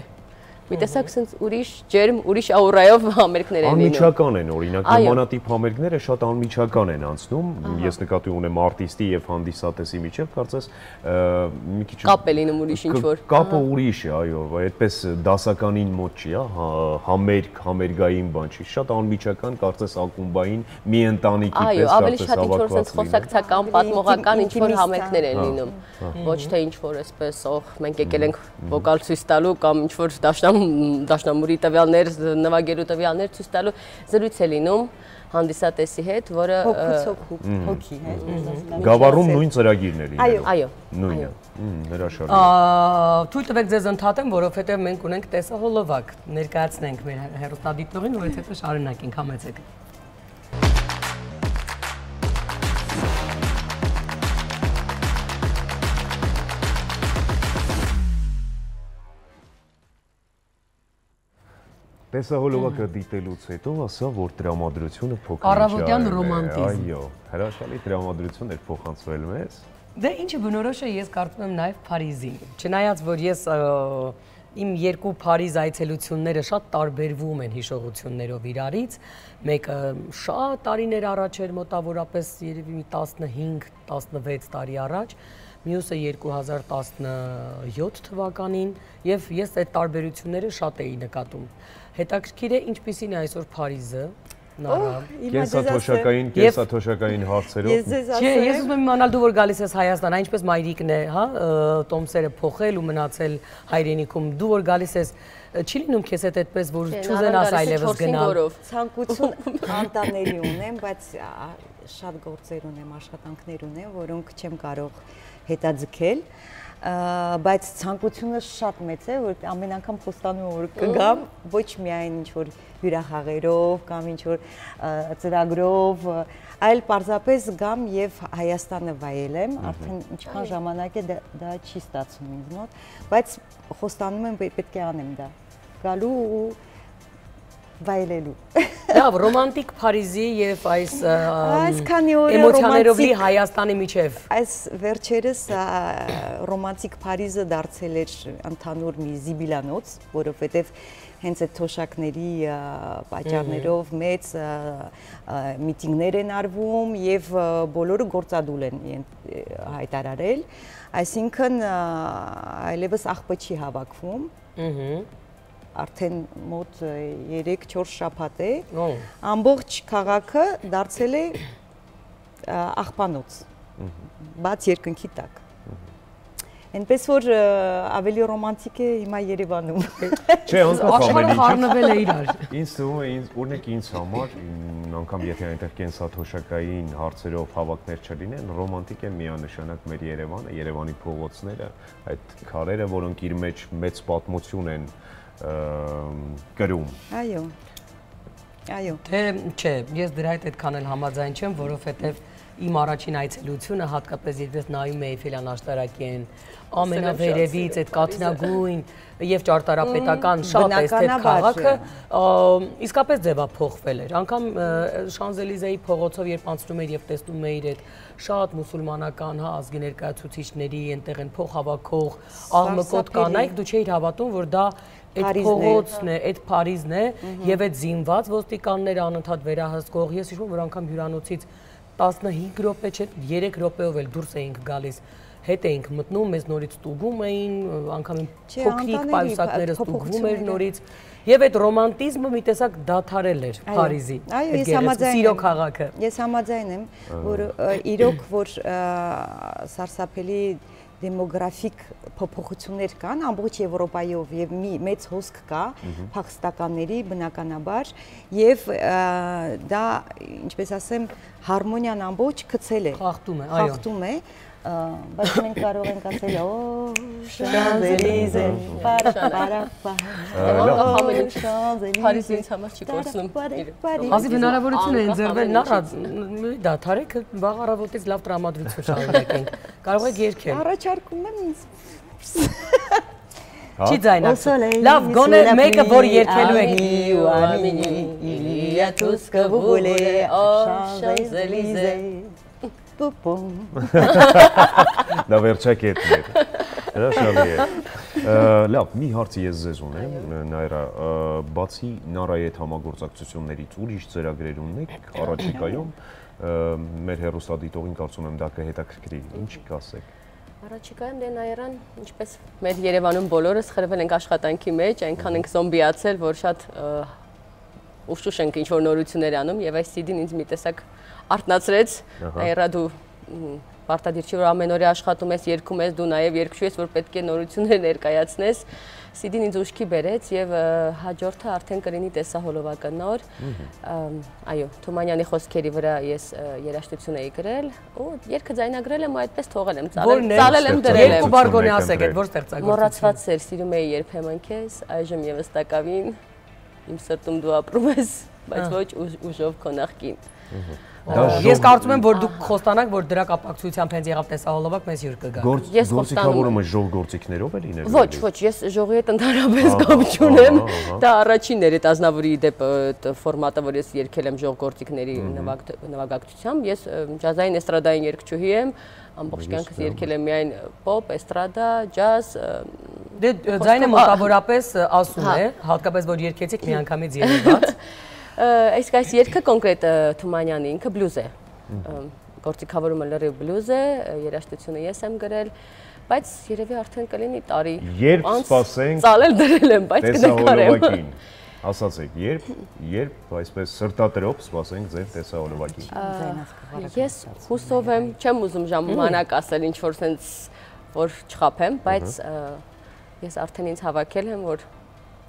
մի տեսակ sense ուրիշ ջերմ, ուրիշ աուրայով համերգներ են լինում։ Անմիջական են, օրինակ, նմանատիպ համերգները շատ անմիջական են անցնում։ Ես նկատի ունեմ արտիստի եւ հանդիսատեսի միջեւ, կարծես մի քիչ կապ է լինում ուրիշ ինչ-որ։ Կապը ուրիշ է, այո, այդպես դասականին մոտ չի, համերգ, համերգային բան չի, շատ անմիջական, կարծես ակումբային մի ընտանիքի պես կարծես հավաքված խոսակցական, պատմողական ինչ-որ համերգներ են լինում, ոչ թե ինչ-որ այսպես, օհ, մենք եկել ենք վոկալ ցույց տալու կամ ինչ-որ դաշնամ դաշնամուրի տվյալներ, նվագելու տվյալներ ցույց տալու զրույց է լինում հանդիսատեսի հետ, որը հոգի հետ։ Գավառում նույն ծրագիրն է լինում։ Այո, նույնը։ Հրաշալի։ Թույլ տվեք ձեզ ընդհատեմ, որովհետև մենք ունենք տեսահոլովակ, ներկայացնենք մեր հեռուստադիտողին, որից հետո շարունակենք, համեցեք։ Տեսահոլովակը դիտելուց հետո ասա, որ տրամադրությունը փոքր Առավոտյան ռոմանտիզմ։ Այո, հրաշալի տրամադրություն էր փոխանցվել մեզ։ Դե ինչը բնորոշ է, ես կարծում եմ նաև Փարիզին։ Չնայած որ ես իմ երկու Փարիզ այցելությունները շատ տարբերվում են հիշողություններով իրարից, մեկը շատ տարիներ առաջ էր, մոտավորապես երևի մի տասնհինգ տասնվեց տարի առաջ, մյուսը երկու հազար տասնյոթ թվականին, եւ ես այդ տարբերությունները շատ էի նկատում։ Հետաքրքիր է ինչպիսին է այսօր Փարիզը, Նարա։ Կենսաթոշակային, կենսաթոշակային հարցերով։ Չէ, ես ուզում եմ իմանալ դու որ գալիս ես Հայաստան, այնպես մայրիկն է, հա, տոմսերը փոխել ու մնացել հայրենիքում, դու որ գալիս ես, չի լինում քեզ հետ այդպես որ չուզենաս այլևս գնալ։ Ցանկություն անտանելի ունեմ, բայց շատ գործեր ունեմ, աշխատանքներ ունեմ, որոնք չեմ կարող հետաձգել, բայց ցանկությունը շատ մեծ է, որ ամեն անգամ խոստանում եմ, որ կգամ, ոչ միայն ինչ-որ հյուրախաղերով կամ ինչ-որ ծրագրով, այլ պարզապես գամ եւ Հայաստանը վայելեմ, արդեն ինչքան ժամանակ է դա չի ստացվում ինձ մոտ, բայց խոստանում եմ պետք է անեմ դա, գալու ու վայելելու։ Լավ, ռոմանտիկ Փարիզի եւ այս էմոցիաներով լի Հայաստանի միջև։ Այս վերջերս ռոմանտիկ Փարիզը դարձել էր ընդհանուր մի զիբիլանոց, որովհետեւ հենց այդ թոշակների պատճառներով մեծ միտինգներ են արվում եւ բոլորը գործադուլ են հայտարարել, այսինքն այլևս աղբը չի հավաքվում։ Արդեն մոտ երեք-չորս շաբաթ է, ամբողջ քաղաքը դարձել է աղբանոց, բաց երկնքի տակ։ Այնպես որ ավելի ռոմանտիկ է հիմա Երևանում։ Չէ, անկախ աշխարհը խառնվել է իրար։ Ինձ թվում է, օրինակ ինձ համար, անգամ եթե այնտեղ կենսաթոշակային հարցերով հավաքներ չլինեն, ռոմանտիկ է միանշանակ մեր Երևանը, Երևանի փողոցները, այդ քարերը, որոնք իր մեջ մեծ պատմություն են կրում։ Այո։ Այո։ Թե չէ, ես դրա հետ այդքան էլ համաձայն չեմ, որովհետև իմ առաջին այցելությունը հատկապես երբ ես նայում էի Էյֆելյան աշտարակին, ամենավերևից այդ կաթնագույն եւ ճարտարապետական շատ էսթետ քաղաքը իսկապես ձևափոխվել էր։ Անկամ Շանզելիզեի փողոցով երբ անցնում էր եւ տեսնում էիր այդ շատ մուսուլմանական, հա, ազգի ներկայացուցիչների այնտեղ են փոխհավաքող աղմկոտ կանայք, դու չէիր հավատում, որ դա այդ փողոցն է, այդ Փարիզն է եւ այդ զինված ոստիկանները անընդհատ վերահսկող։ Ես հիշում եմ, որ անգամ հյուրանոցից տասնհինգ րոպե չէ, երեք րոպեով էլ դուրս էինք գալիս, հետ էինք մտնում, մեզ նորից ստուգում էին, անգամ փոքրիկ պայուսակները ստուգվում էր նորից, եւ այդ ռոմանտիզմը մի տեսակ դադարել էր Փարիզի, այդ սիրո քաղաքը։ Ես համաձայն եմ, որ իրոք որ սարսափելի դեմոգրաֆիկ փոփոխություններ կան ամբողջ Եվրոպայով եւ մի մեծ հոսք կա փախստականների բնականաբար եւ դա ինչպես ասեմ հարմոնիան ամբողջ գցել է խախտում է, այո, խախտում է, բայց մենք կարող ենք ասել օ Շանզելիզե պարապա Փարիզի ինձ համար չի կորցնում։ Ազի հնարավորություն է ընձեռվել նախ դա թարեք վաղ առավոտից լավ տրամադրություն շարունակենք։ Կարող եք երգել։ Առաջարկում եմ ինձ։ Չի ձայնացել։ Լավ, գոնե մեկը որ երգելու եք։ Իլիա Տուսկը վուլե օ Շանզելիզե պուպում։ Դա վերջակետն էր։ Հրաշալի է։ Լավ, մի հարց ես ձեզ ունեմ, Նայրա, բացի Նարայի հետ համագործակցություններից ուրիշ ծրագրեր ունեք առաջիկայում, մեր հեռուստադիտողին կարծում եմ դա կհետաքրքրի, ինչ կասեք։ Առաջիկայում դե Նայրան, ինչպես մեր Երևանում բոլորս խրվել ենք աշխատանքի մեջ, այնքան ենք զոմբիացել, որ շատ ուշուշ ենք ինչ-որ նորություններ անում եւ այս սի դին ինձ մի տեսակ արթնացրեց, Նայրա դու պարտադիր չի որ ամեն օր աշխատում ես, երգում ես, դու նաև երգչու ես, որ պետք է նորություններ ներկայացնես։ սի դին ինձ ուշքի բերեց եւ հաջորդը արդեն կլինի տեսահոլովակը նոր։ Այո, Թումանյանի խոսքերի վրա ես երաժշտություն էի գրել ու երգը ձայնագրել եմ ու այդպես թողել եմ, ծալել եմ դրել եմ։ Երկու բարգոնի ասեք, այդ որ ստեղծագործություն։ Մոռացված էր, սիրում էի երբեմն քեզ, այժմ եւս տակավին իմ սրտում դու ապրում ես, բայց ոչ ուժով քո նախկին։ Ես կարծում եմ, որ դուք խոստանաք, որ դրա կապակցությամբ հենց եղավ տեսահոլովակ մեզ հյուր կգա։ Գործիքավորումը ժող գործիքներով է լինելու։ Ոչ, ոչ, ես ժողովի հետ ընդհանրապես կապ չունեմ։ Դա առաջինն էր այդ Ազնավուրի դեպ ֆորմատը, որ ես երգել եմ ժող գործիքների նվագակցությամբ։ Ես ջազային էստրադային երգչուհի եմ, ամբողջ կյանքս երգել եմ միայն պոպ, էստրադա, ջազ։ Դե ձայնը մոտավորապես ասում է, հատկապես որ երգեցիք միանգամից երևաց։ Իսկ այս երգը կոնկրետ Թումանյանի ինքը բլյուզ է, գործիքավորումը լրիվ բլյուզ է, երաժշտությունը ես եմ գրել, բայց երևի արդեն կլինի տարի անց ծալել դրել եմ, բայց կնկարեմ։ Ասացեք, երբ, երբ այսպես սրտատրոփ սպասենք ձեր տեսահոլովակին։ Ես հուսով եմ, չեմ ուզում ժամանակ ասել ինչ-որ սենց, որ չխափեմ, բայց ես արդեն ինձ հավաքել եմ, որ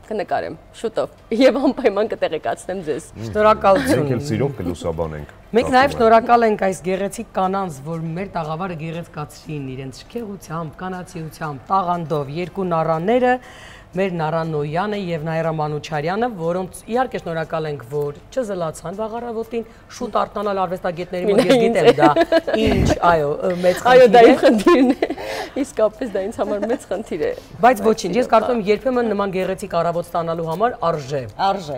կնկարեմ շուտով եւ անպայման կտեղեկացնեմ ձեզ։ Շնորհակալություն։ Մենք էլ սիրով կլուսաբանենք։ Մենք նաեւ շնորհակալ ենք այս գեղեցիկ կանանց, որ մեր տաղավարը գեղեցկացրին իրենց շքեղությամբ, կանացիությամբ, տաղանդով, երկու նառաները, մեր Նարան Նոյանը եւ Նայրա Մանուչարյանը, որոնց իհարկե շնորհակալ ենք, որ չզլացան վաղարավոտին, շուտ արթնանալ արվեստագետների մոտ, ես գիտեմ դա ինչ, այո, մեծ խնդիր է։ Այո, դա իմ խնդիրն է։ Իսկապես դա ինձ համար մեծ խնդիր է։ Բայց ոչինչ, ես կարծում եմ երբեմն նման գեղեցիկ առավոտ ստանալու համար արժե։ Արժե։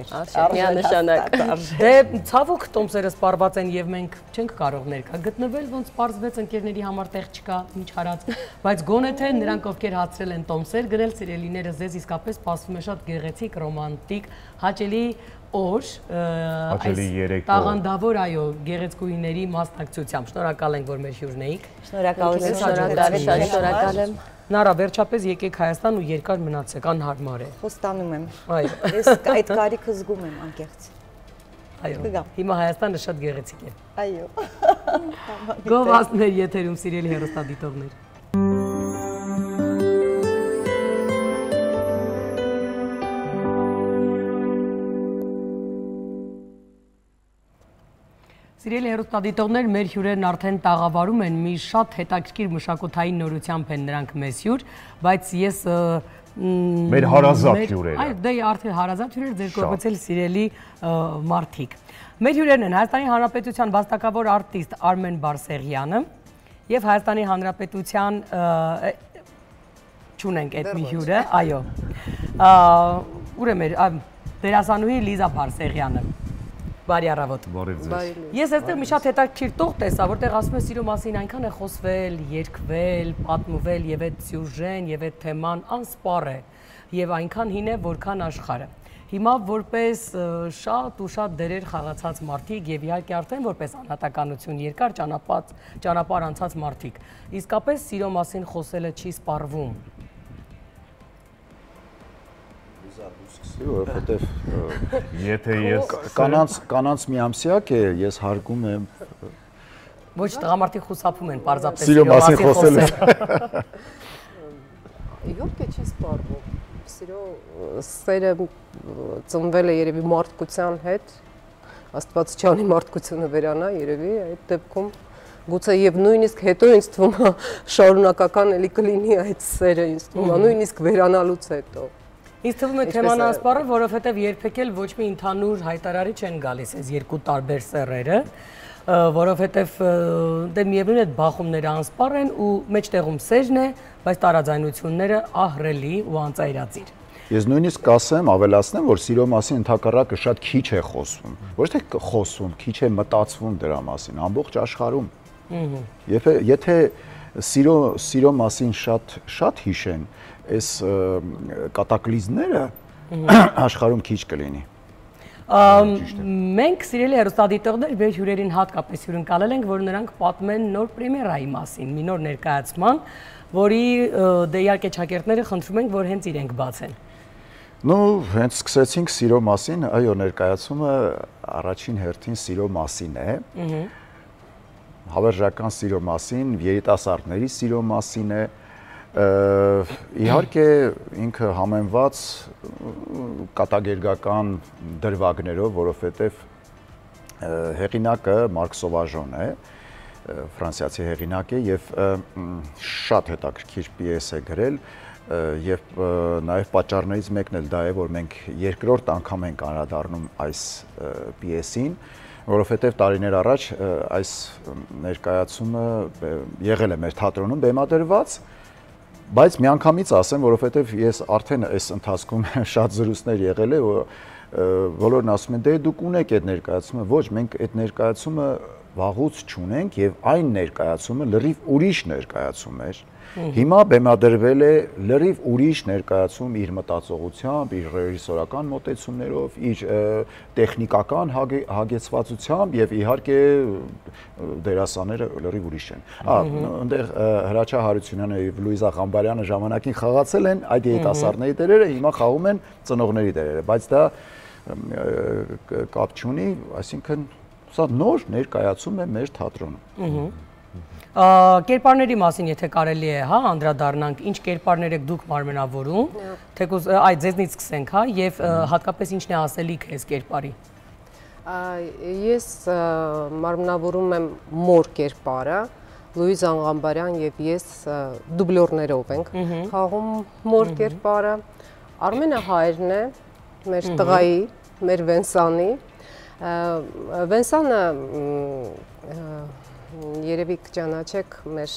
Միանշանակ։ Դե ցավոք տոմսերը սպառված են եւ մենք չենք կարող ներկա գտնվել, ոնց սպառվեց ընկերների համար տեղ չկա, ինչ հարած, բայց գոնե թե նրանք ովքեր հացրել են տոմսեր գրել սիրելիները ձեզ իսկապես սպասվում է շատ գեղեցիկ, ռոմանտիկ, հաճելի օր, այս տաղանդավոր, այո, գեղեցկուհիների մասնակցությամբ։ Շնորհակալ ենք, որ մեր հյուրն էիք։ Շնորհակալություն, շնորհակալ եմ։ Նարա, վերջապես եկեք Հայաստան ու երկար մնացեք, անհարմար է։ Խոստանում եմ։ Այո։ Ես այդ կարիքը զգում եմ անկեղծ։ Այո։ Հիմա Հայաստանը շատ գեղեցիկ է։ Այո։ Գովազդներ եթերում, սիրելի հեռուստադիտողներ։ Սիրելի հեռուստադիտողներ, մեր հյուրերն արդեն տաղավարում են, մի շատ հետաքրքիր մշակութային նորությամբ են նրանք մեզ հյուր, բայց ես մեր հարազատ հյուրերը։ Այո, դե արդեն հարազատ հյուրեր, ձեր կողմից էլ սիրելի մարդիկ։ Մեր հյուրերն են Հայաստանի Հանրապետության վաստակավոր արտիստ Արմեն Բարսեղյանը եւ Հայաստանի Հանրապետության չունենք այդ մի հյուրը, այո։ Ուր է մեր դերասանուհի Լիզա Բարսեղյանը։ Բարի առավոտ։ Ես այստեղ մի շատ հետաքրքիր տող տեսա, որտեղ ասում են սիրո մասին այնքան է խոսվել, երգվել, պատմվել եւ այդ սյուժեն եւ այդ թեման անսպառ է եւ այնքան հին է, որքան աշխարհը։ Հիմա որպես շատ ու շատ դերեր խաղացած մարդիկ եւ իհարկե արդեն որպես անհատականություն երկար ճանապարհ ճանապարհ անցած մարդիկ, իսկապես սիրո մասին խոսելը չի սպառվում։ Որովհետև եթե ես կանանց կանանց մի ամսյակ է, ես հարգում եմ Ոչ տղամարդիկ խուսափում են պարզապես սիրո մասին խոսելը։ Իհարկե չի սպառվում։ Սիրո սերը ծնվել է երևի մարդկության հետ, Աստված չանի մարդկությունը վերանա երևի այդ դեպքում գուցե եւ նույնիսկ հետո ինձ թվում է շարունակական էլի կլինի այդ սերը ինձ թվում է նույնիսկ վերանալուց հետո։ Ինձ թվում է թեման անսպառը, որովհետև երբեք էլ ոչ մի ընդհանուր հայտարարի չեն գալիս այս երկու տարբեր սեռերը, որովհետև դե միևնույն է բախումները անսպառ են ու մեջտեղում սերն է, բայց տարաձայնությունները ահռելի ու անծայրածիր։ Ես նույնիսկ կասեմ, ավելացնեմ, որ սիրո մասին ընդհակառակը շատ քիչ է խոսվում։ Ոչ թե խոսում, քիչ է մտածվում դրա մասին, ամբողջ աշխարհում։ Եվ եթե սիրո սիրո մասին շատ շատ հիշեն, այս կատակլիզմները աշխարհում քիչ կլինի։ Մենք սիրելի հեռուստադիտողներ մեր հյուրերին հատկապես հյուրընկալել ենք, որ նրանք պատմեն նոր պրեմիերայի մասին, մի նոր ներկայացման, որի դե իհարկե ճակերտները խնդրում ենք, որ հենց իրենք բացեն։ Ну, հենց սկսեցինք սիրո մասին, այո, ներկայացումը առաջին հերթին սիրո մասին է։ Հավերժական սիրո մասին, երիտասարդների սիրո մասին է։ Իհարկե ինքը համեմված կատակերգական դրվագներով, որովհետև հեղինակը Մարկ Սովաժոն է, ֆրանսիացի հեղինակ է եւ շատ հետաքրքիր պիես է գրել եւ նաեւ պատճառներից մեկն էլ դա է, որ մենք երկրորդ անգամ ենք անդրադառնում այս պիեսին, որովհետև տարիներ առաջ այս ներկայացումը եղել է մեր թատրոնում բեմադրված, բայց միանգամից ասեմ, որովհետև ես արդեն այս ընթացքում շատ զրույցներ եղել է, բոլորն ասում են, դե դուք ունեք այդ ներկայացումը, ոչ, մենք այդ ներկայացումը վաղուց չունենք եւ այն ներկայացումը լրիվ ուրիշ ներկայացում էր։ Հիմա բեմադրվել է լրիվ ուրիշ ներկայացում իր մտածողությամբ, իր ռեժիսորական մոտեցումներով, իր տեխնիկական հագեցվածությամբ եւ իհարկե դերասանները լրիվ ուրիշ են։ Ահա, այնտեղ Հրաչյա Հարությունյանը եւ Լուիզա Ղամբարյանը ժամանակին խաղացել են այդ երիտասարդների դերերը, հիմա խաղում են ծնողների դերերը, բայց դա կապ չունի, այսինքն սա նոր ներկայացում է մեր թատրոնում։ Կերպարների մասին եթե կարելի է, հա, անդրադառնանք, ինչ կերպարներ եք դուք մարմնավորում, թեկուզ այդ ձեզնից սկսենք, հա, եւ հատկապես ինչն է ասելիքը այս կերպարի։ Ես մարմնավորում եմ մոր կերպարը, Լուիզա Ղամբարյան եւ ես դուբլյորներով ենք խաղում մոր կերպարը, Արմենը հայրն է, մեր տղայի, մեր Վենսանի, Վենսանը երևի կճանաչեք մեր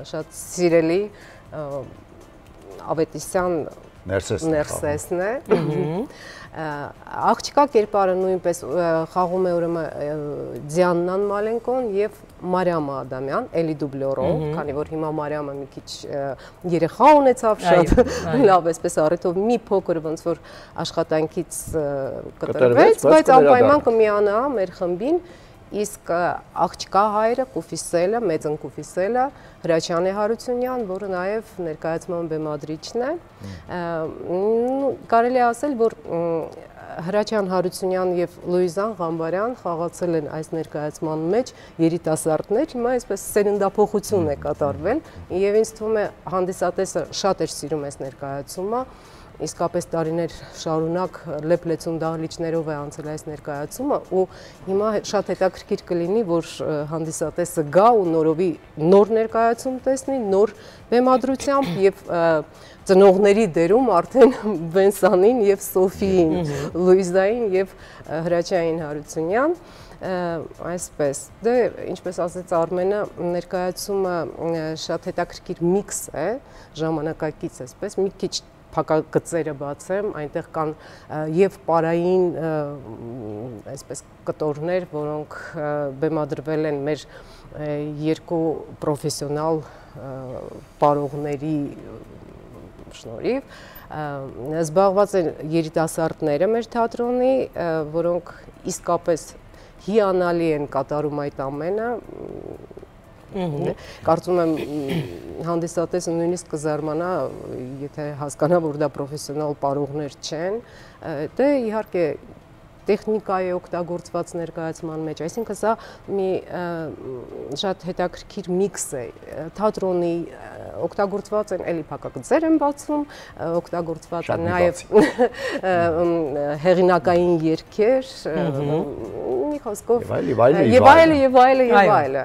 շատ սիրելի Ավետիսյան Ներսեսն է։ Աղջկա կերպարը նույնպես խաղում է ուրեմն Դիանան Մալենկոն եւ Մարիամա Ադամյան, էլի դուբլյորով, քանի որ հիմա Մարիամը մի քիչ երեխա ունեցավ, շատ լավ էսպես առիթով մի փոքր ոնց որ աշխատանքից կտրվեց, բայց անպայման կմիանա մեր խմբին։ Իսկ աղջկա հայրը Կուֆիսելը, մեծն Կուֆիսելը, Հրաչյանի Հարությունյան, որը նաև ներկայացման բեմադրիչն է, կարելի է ասել, որ Հրաչյան Հարությունյան եւ Լուիզան Ղամբարյան խաղացել են այս ներկայացման մեջ երիտասարդներ, հիմա այսպես սերնդափոխություն է կատարվել, եւ ինձ թվում է հանդիսատեսը շատ էր սիրում այս ներկայացումը, իսկապես տարիներ շարունակ լեփլեցուն դահլիճներով է անցել այս ներկայացումը ու հիմա շատ հետաքրքիր կլինի, որ հանդիսատեսը գա ու նորովի նոր ներկայացում տեսնի, նոր բեմադրությամբ եւ ծնողների դերում արդեն Վենսանին եւ Սոֆիին, Լուիզային եւ Հրաչյային Հարությունյան, այսպես, դե ինչպես ասեց Արմենը, ներկայացումը շատ հետաքրքիր միքս է, ժամանակակից այսպես, մի քիչ փակագծերը բացեմ, այնտեղ կան եւ պարային այսպես կտորներ, որոնք բեմադրվել են մեր երկու պրոֆեսիոնալ պարողների շնորհիվ, զբաղված են երիտասարդները մեր թատրոնի, որոնք իսկապես հիանալի են կատարում այդ ամենը, կարծում եմ հանդիսատեսը նույնիսկ կզարմանա, եթե հասկանա, որ դա պրոֆեսիոնալ պարողներ չեն, դե իհարկե տեխնիկա է օգտագործված ներկայացման մեջ, այսինքն սա մի շատ հետաքրքիր միքս է, թատրոնի օգտագործված են, էլի փակագծեր են բացվում, օգտագործված են նաև հեղինակային երգեր, մի խոսքով եւ այլը եւ այլը եւ այլը։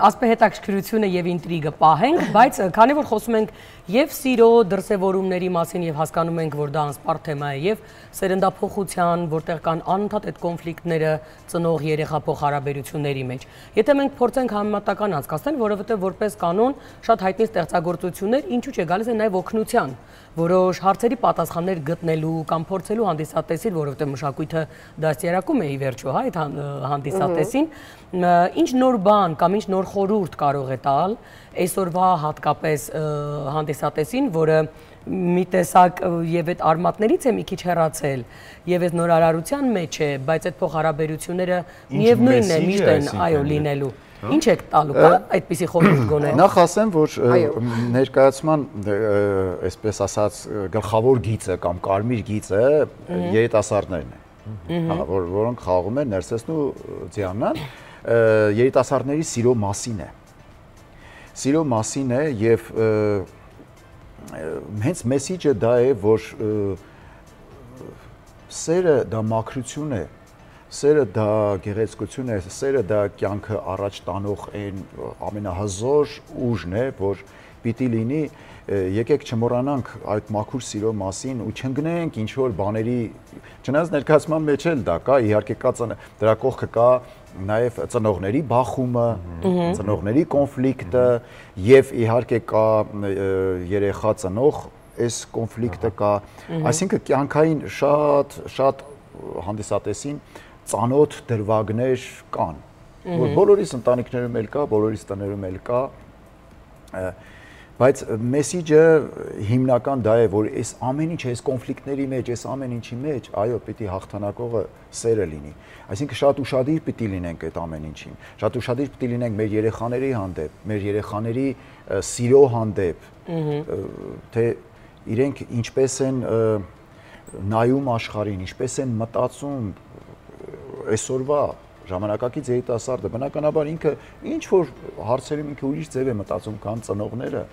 Ասպե հետաքրքրությունը եւ ինտրիգը պահենք, բայց քանի որ խոսում ենք եւ սիրո դրսեւորումների մասին եւ հասկանում ենք, որ դա անսպառ թեմա է եւ սերնդափոխության, որտեղ կան անընդհատ այդ կոնֆլիկտները ծնող երեխա փոխհարաբերությունների մեջ։ Եթե մենք փորձենք համեմատական անցկացնել, որովհետեւ որպես կանոն շատ հայտնի ստեղծագործություններ ինչու՞ չէ գալիս են նաեւ օգնության, որոշ հարցերի պատասխաններ գտնելու կամ փորձելու հանդիսատեսին, որովհետեւ մշակույթը դաստիարակում է ի վերջո, հա, այդ հանդիսատեսին, ինչ նոր բան կամ ինչ նոր խորհուրդ կարող է տալ այսօրվա հատկապես հանդիսատեսին, որը մի տեսակ եւ այդ արմատներից է մի քիչ հեռացել եւ այդ նորարարության մեջ է, բայց այդ փոխհարաբերությունները միևնույնն է միշտ են, այո, լինելու։ Ինչ եք տալու, կա այդպիսի խորհուրդ գոնե։ Նախ ասեմ, որ ներկայացման այսպես ասած գլխավոր գիծը կամ կարմիր գիծը երիտասարդներն են, որոնք խաղում են Ներսեսն ու Ձիաննան, երիտասարդների սիրո մասին է։ Սիրո մասին է եւ հենց մեսիջը դա է, որ սերը դա մաքրություն է, սերը դա գեղեցկություն է, սերը դա կյանքը առաջ տանող այն ամենահզոր ուժն է, որ պիտի լինի, եկեք չմոռանանք այդ մաքուր սիրո մասին ու չընկնենք ինչ որ բաների, չնայած ներկայացման մեջ էլ դա կա, իհարկե կա դրա կողքը կա նաև ծնողների բախումը, ծնողների կոնֆլիկտը եւ իհարկե կա երեխա ծնող այս կոնֆլիկտը կա, այսինքն կյանքային շատ շատ հանդիսատեսին ծանոթ դրվագներ կան, որ բոլորիս ընտանիքներում էլ կա, բոլորիս տներում էլ կա, բայց մեսիջը հիմնական դա է, որ այս ամեն ինչ, այս կոնֆլիկտների մեջ, այս ամեն ինչի մեջ, այո, պիտի հաղթանակողը սերը լինի։ Այսինքն շատ ուշադիր պիտի լինենք այդ ամեն ինչին, շատ ուշադիր պիտի լինենք մեր երեխաների հանդեպ, մեր երեխաների սիրո հանդեպ, թե իրենք ինչպես են նայում աշխարհին, ինչպես են մտածում այսօրվա ժամանակակից երիտասարդը, բնականաբար ինքը ինչ որ հարցերում ինքը ուրիշ ձև է մտածում, քան ծնողները,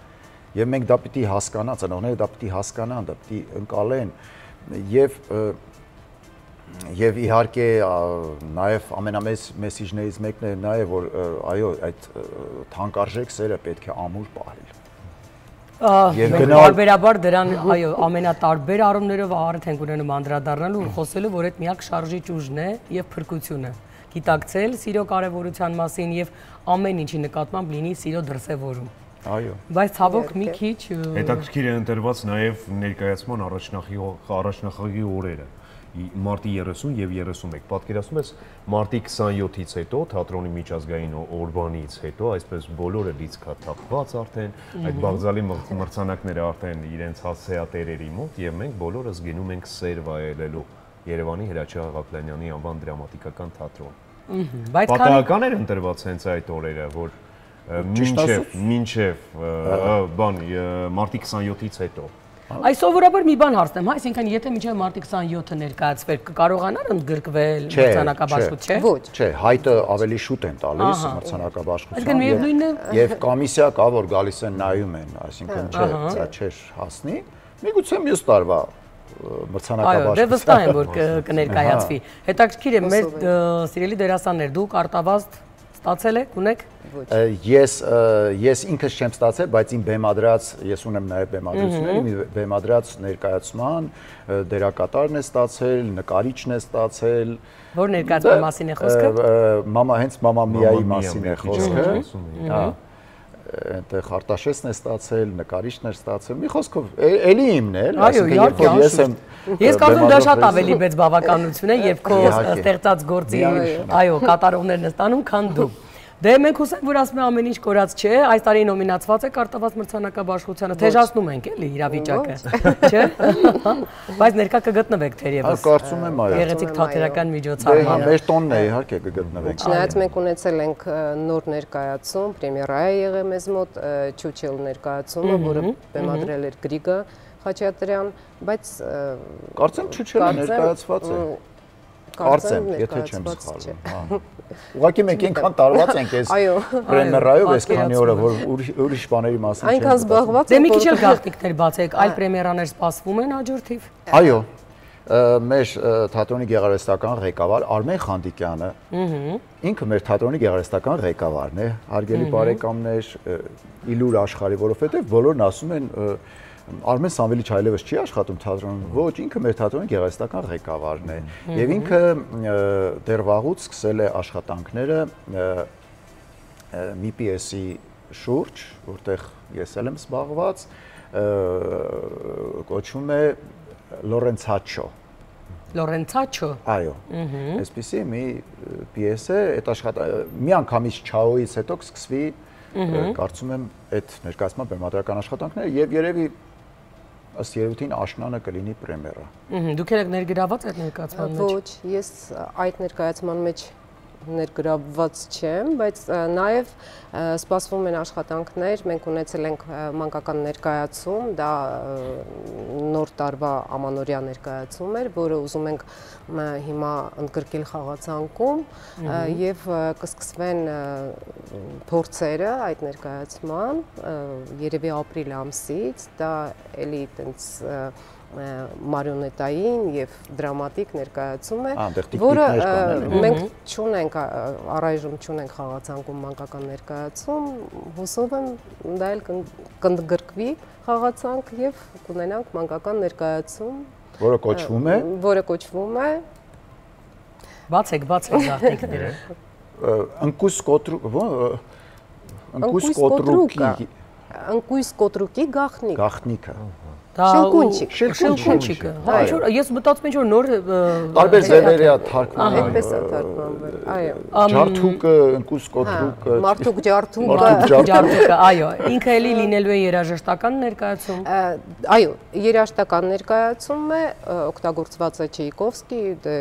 եւ մենք դա պիտի հասկանան, ծնողները դա պիտի հասկանան, դա պիտի ընկալեն եւ եւ իհարկե նաեւ ամենամեծ մեսիջներից մեկն է նաեւ որ այո, այդ թանկարժեք սերը պետք է ամուր պահել։ Եվ բարբերաբար դրան, այո, ամենատարբեր առումներով առիթ ենք ունենում անդրադառնալու ու խոսելու, որ այդ միակ շարժիչ ուժն է եւ փրկությունը։ Գիտակցել սիրո կարևորության մասին եւ ամեն ինչի նկատմամբ լինի սիրո դրսեւորում։ Այո։ Բայց ցավոք մի քիչ հետաքրքիր է ընտրված նաեւ ներկայացման առաջնախաղի օրերը։ Մարտի երեսուն եւ երեսունմեկ։ Պատկերացնում ես մարտի քսանյոթից հետո թատրոնի միջազգային օրվանից հետո այսպես բոլորը լիցքաթափված արդեն այդ բաղձալի մրցանակները արդեն իրենց հասցեատերերի մոտ եւ մենք բոլորս գնում ենք սեր վայելելու Երևանի Հրաչյա Ղափլանյանի անվան դրամատիկական թատրոն։ Բայց պատահական էր ընտրված հենց այդ օրերը, որ մինչև մինչև բան մարտի քսանյոթից հետո։ Այս սովորաբար մի բան հարցնեմ, հա, այսինքն եթե մինչև մարտի քսանյոթը ներկայացվեր, կկարողանար ընդգրկվել մրցանակաբաշխություն, չէ։ Ոչ, չէ, հայտը ավելի շուտ են տալիս մրցանակաբաշխության եւ կոմիսիա կա, որ գալիս են նայում են, այսինքն չէ, դա չէր հասնի։ Միգուցե մյուս տարվա մրցանակաբաշխություն։ Այո, դե վստահ եմ, որ կներկայացվի։ Հետաքրքիր է, մեր սիրելի դերասաններ, դուք արտավազդ ստացել եք, ունեք։ Ես ես ինքս չեմ ստացել, բայց իմ բեմադրած, ես ունեմ նաև բեմադրություններ, իմ բեմադրած ներկայացման դերակատարն է ստացել, նկարիչն է ստացել։ Որ ներկայացման մասին է խոսքը։ Մամա հենց Մամա Միայի մասին է խոսքը։ Հա։ Այնտեղ Արտաշեսն է ստացել, նկարիչն է ստացել։ Մի խոսքով, էլի իմն է, այսինքն երբ որ ես եմ Ես կարծում դա շատ ավելի մեծ բավականություն է եւ քո ստեղծած գործի, այո, կատարողներն են ստանում, քան դու։ Դե մենք հուսանք, որ ասում եմ ամեն ինչ կորած չէ, այս տարի նոմինացված եք արտավազդ մրցանակաբաշխությանը, թեժացնում ենք էլի իրավիճակը, չէ՞։ Բայց ներկա կգտնվեք թերևս։ Կարծում եմ, այո։ Գեղեցիկ թատերական միջոցառման։ Մեր տոնն է, իհարկե կգտնվեք։ Չնայած մենք ունեցել ենք նոր ներկայացում, պրեմիերա է եղել մեզ մոտ, Չուչել ներկայացումը, որը բեմադրել էր Գրիգը Խաչատրյան, բայց կարծեմ Չուչելը ներկայացված է։ Կարծեմ, եթե չեմ սխալվում։ Ուղղակի մենք այնքան տարված ենք այս պրեմիերայով այս քանի օրը, որ ուրիշ բաների մասին այնքան զբաղված ենք։ Դե մի քիչ էլ գաղտնիքներ բացեք, այլ պրեմիերաներ սպասվում են հաջորդիվ։ Այո։ մեր թատրոնի գեղարվեստական ղեկավար Արմեն Խանդիկյանը, ինքը մեր թատրոնի գեղարվեստական ղեկավարն է, հարգելի բարեկամներ, իլուր աշխարհի, որովհետև բոլորն ասում են Արմեն Սամվելիչ այլևս չի աշխատում թատրոնում, ոչ, ինքը մեր թատրոնի գեղարվեստական ղեկավարն է, եւ ինքը դեռ վաղուց սկսել է աշխատանքները մի պիեսի շուրջ, որտեղ ես էլ եմ զբաղված, կոչվում է Լորենցաչո։ Լորենցաչո։ Այո։ Այսպեսի մի պիես է, այդ աշխատանքը մի անգամից Չաոյից հետո կսկսվի, կարծում եմ, այդ ներկայացման բեմադրական աշխատանքները եւ երևի ըստ երևույթին աշնանը կլինի պրեմիերա։ Դուք եք ներգրաված այդ ներկայացման մեջ։ Ոչ, ես այդ ներկայացման մեջ ներգրավված չեմ, բայց նաև սպասվում են աշխատանքներ, մենք ունեցել ենք մանկական ներկայացում, դա նոր տարվա ամանորյա ներկայացում էր, որը ուզում ենք հիմա ընդգրկել խաղացանկում եւ կսկսվեն փորձերը այդ ներկայացման, երևի ապրիլ ամսից, դա էլի տենց մարիոնետային եւ դրամատիկ ներկայացում է, որը մենք չունենք առայժմ չունենք խաղացանկում մանկական ներկայացում, հուսով եմ դա էլ կընդգրկվի խաղացանք եւ կունենանք մանկական ներկայացում, որը կոչվում է որը կոչվում է Բացեք, բացեք զարթիկները։ Ընկույս կոտրուկ, ընկույս կոտրուկի ընկույս կոտրուկի գաղտնիք։ Գաղտնիքը։ Շելկունչիկ, շելկունչիկը։ Հա, ինչ-որ ես մտածում եմ ինչ-որ նոր տարբեր ձևերի է թարգմանվել։ Այդպես է թարգմանվել, այո։ Ջարդուկը, ընկուս կոտրուկը, մարդուկ ջարդուկը, ջարդուկը, այո։ Ինքը էլի լինելու է երաժշտական ներկայացում։ Այո, երաժշտական ներկայացում է, օգտագործված է Չայկովսկի, դե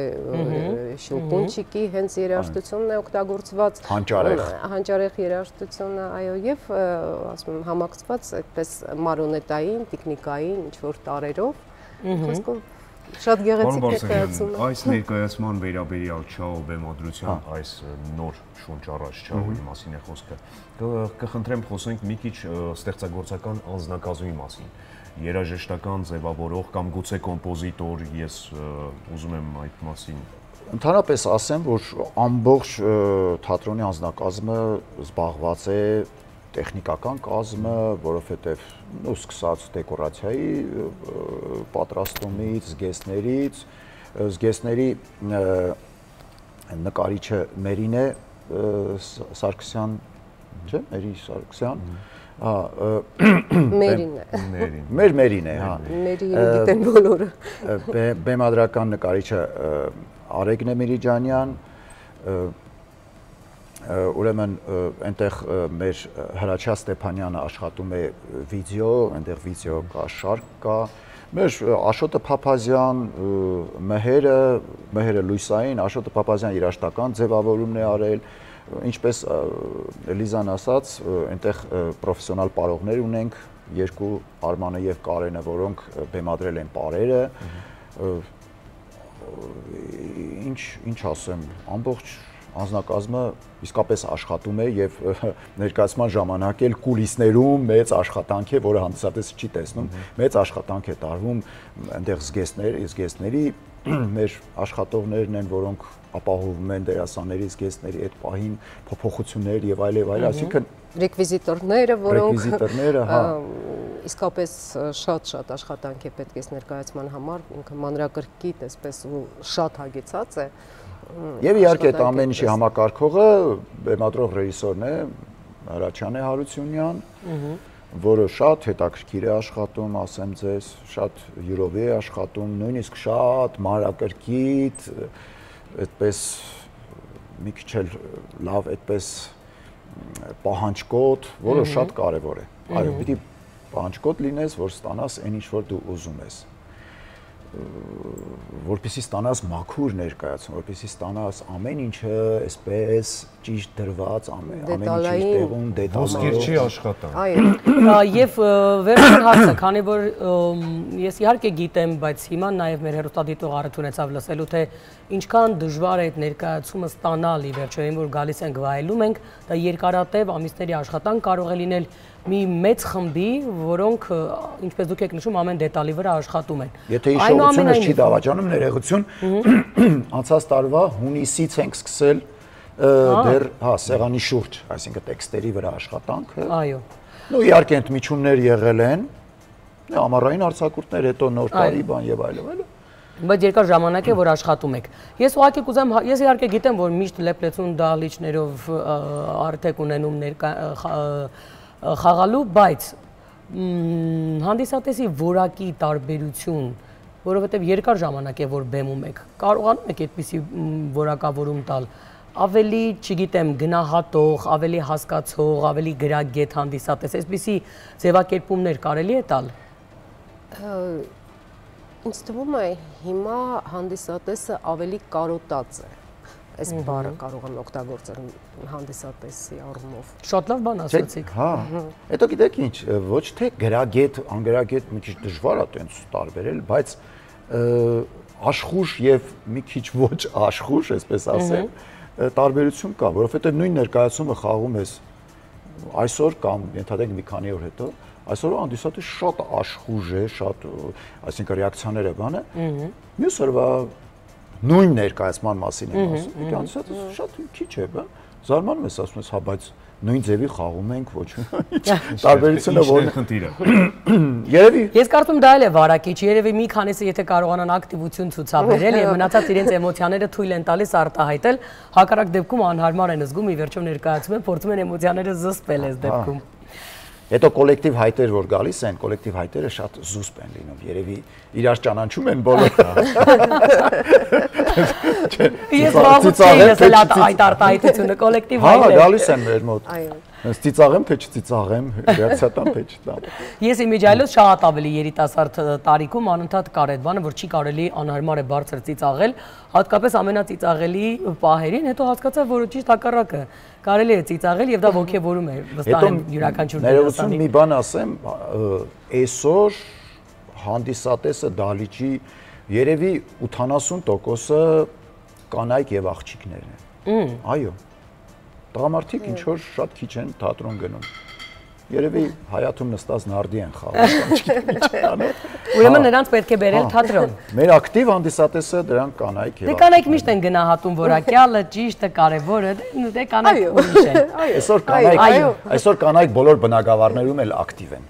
շելկունչիկի հենց երաժշտությունն է օգտագործված։ Հանճարեղ։ Հանճարեղ երաժշտությունը, այո, եւ ասում եմ համակցված այդպես մարոնետային, տեխնիկային ինչ-որ տարերով, խոսքով շատ գեղեցիկ ներկայացում է։ Այս ներկայացման վերաբերյալ Չաո բեմադրության այս նոր շունչ առաջ Չաոյի մասին է խոսքը։ Կխնդրեմ խոսենք մի քիչ ստեղծագործական անձնակազմի մասին։ Երաժշտական ձևավորող կամ գուցե կոմպոզիտոր, ես ուզում եմ այդ մասին։ Ընդհանրապես ասեմ, որ ամբողջ թատրոնի անձնակազմը զբաղված է տեխնիկական կազմը, որովհետև ու սկսած դեկորացիայի պատրաստումից, զգեստներից, զգեստների նկարիչը Մերին է Սարգսյան, չէ՞, Մերի Սարգսյան, հա, Մերին է։ Մեր Մերին է, հա։ Մերին գիտեն բոլորը։ Բեմադրական նկարիչը Արեգն Միրիջանյան, ուրեմն այնտեղ մեր Հրաչյա Ստեփանյանը աշխատում է վիդեո, այնտեղ վիդեո կա, շարք կա, մեր Աշոտը Փափազյան, Մհերը, Մհերը Լույսային, Աշոտը Փափազյան երաժշտական ձևավորումն է արել, ինչպես Լիզան ասաց, այնտեղ պրոֆեսիոնալ պարողներ ունենք, երկու Արմանը եւ Կարենը, որոնք բեմադրել են պարերը, ինչ ինչ ասեմ, ամբողջ անձնակազմը իսկապես աշխատում է եւ ներկայացման ժամանակ էլ կուլիսներում մեծ աշխատանք է, որը հանդիսատեսը չի տեսնում, մեծ աշխատանք է տարվում, այնտեղ զգեստներ, զգեստների մեր աշխատողներն են, որոնք ապահովում են դերասանների զգեստների այդ պահին փոփոխություններ եւ այլ եւ այլ, այսինքն ռեկվիզիտորները, որոնք ռեկվիզիտորները, հա, իսկապես շատ-շատ աշխատանք է պետք է ներկայացման համար, ինքը մանրակրկիտ, այսպես ու շատ հագեցած է։ Եվ իհարկե այդ ամեն ինչի համակարգողը բեմադրող ռեժիսորն է Հրաչյան Հարությունյան, որը շատ հետաքրքիր է աշխատում, ասեմ ձեզ, շատ յուրովի է աշխատում, նույնիսկ շատ մանրակրկիտ, այդպես մի քիչ էլ լավ այդպես պահանջկոտ, որը շատ կարևոր է։ Այո, պիտի պահանջկոտ լինես, որ ստանաս այն ինչ որ դու ուզում ես։ Որպեսզի ստանաս մաքուր ներկայացում, որպեսզի ստանաս ամեն ինչը այսպես ճիշտ դրված, ամեն ինչ ճիշտ տեղում, դետալներով։ Ոսկերչի աշխատանք։ Այո։ Եվ վերջին հարցը, քանի որ ես իհարկե գիտեմ, բայց հիմա նաև մեր հեռուստադիտող առիթ ունեցավ լսելու, թե ինչքան դժվար է այդ ներկայացումը ստանալ ի վերջո, այն որ գալիս ենք վայելում ենք, դա երկարատև ամիսների աշխատանք կարող է լինել, մի մեծ խմբի, որոնք ինչպես դուք եք նշում, ամեն դետալի վրա աշխատում են։ Եթե հիշողությունս չի դավաճանում, ներողություն, անցած տարվա հունիսից ենք սկսել դեռ, հա, սեղանի շուրջ, այսինքն տեքստերի վրա աշխատանքը։ Այո։ Ու իհարկե ընդմիջումներ եղել են, ամառային արձակուրդներ, հետո նոր տարի բան եւ այլն, այլն։ Բայց երկար ժամանակ է, որ աշխատում եք։ Ես ուղղակի կուզեմ, ես իհարկե գիտեմ, որ միշտ լեփլեցուն դահլիճներով արդյոք ունենում ներկա խաղալու, բայց հանդիսատեսի որակի տարբերություն, որովհետև երկար ժամանակ է, որ բեմում եք, կարողանում եք այդպիսի որակավորում տալ, ավելի, չգիտեմ, գնահատող, ավելի հասկացող, ավելի գրագետ հանդիսատես, այսպիսի ձևակերպումներ կարելի է տալ։ Ինձ թվում է հիմա հանդիսատեսը ավելի կարոտած է, այս բառը կարող եմ օգտագործել հանդիսատեսի առումով։ Շատ լավ բան ասացիք։ Հա, հետո գիտեք ինչ, ոչ թե գրագետ, անգրագետ մի քիչ դժվար է տենց տարբերել, բայց աշխուժ եւ մի քիչ ոչ աշխուժ, այսպես ասեմ, տարբերություն կա, որովհետեւ նույն ներկայացումը խաղում ես այսօր կամ ենթադրենք մի քանի օր հետո, այսօր հանդիսատեսը շատ աշխուժ է, շատ, այսինքն ռեակցիաները բանը, մյուս օրվա նույն ներկայացման մասին եմ ասում, դե հանդիսատեսը շատ քիչ է, բա, զարմանում ես, ասում ես, հա, բայց նույն ձևի խաղում ենք, ոչ մի տարբերությունը որն է խնդիրը։ Երևի Ես կարծում դա էլ է վարակիչ, երևի մի քանիսը եթե կարողանան ակտիվություն ցուցաբերել եւ մնացած իրենց էմոցիաները թույլ են տալիս արտահայտել, հակառակ դեպքում անհարմար են զգում, ի վերջո ներկայացում են, փորձում են էմոցիաները զսպել այս դեպքում։ Հետո կոլեկտիվ հայտեր որ գալիս են, կոլեկտիվ հայտերը շատ զուսպ են լինում, երևի իրար ճանաչում են բոլորը։ Ես վաղուց էի լսել այդ արտահայտությունը, կոլեկտիվ հայտեր։ Հա, գալիս են մեր մոտ։ Հենց ծիծաղեմ, թե չծիծաղեմ, ռեակցիա տամ, թե չտամ։ Ես իմիջիայլոց շատ ավելի երիտասարդ տարիքում անընդհատ կար այդ բանը, որ չի կարելի անհարմար է բարձր ծիծաղել, հատկապես ամենածիծաղելի պահերին, հետո հասկացա, որ ճիշտ հակառակը կարելի է ծիծաղել եւ դա ոգևորում է վստահ եմ յուրաքանչյուր ներողություն մի բան ասեմ, այսօր հանդիսատեսը դահլիճի երևի ութանասուն տոկոսը կանայք եւ աղջիկներն են։ Այո։ Տղամարդիկ ինչ որ շատ քիչ են թատրոն գնում։ Երևի հայաթում նստած նարդի են խաղում։ Ուրեմն նրանց պետք է բերել թատրոն։ Մեր ակտիվ հանդիսատեսը դրանք կանայք եւ Դե կանայք միշտ են գնահատում որակյալը, ճիշտը, կարևորը, դե կանայք ուրիշ են։ Այսօր կանայք, այսօր կանայք բոլոր բնակավարներում էլ ակտիվ են։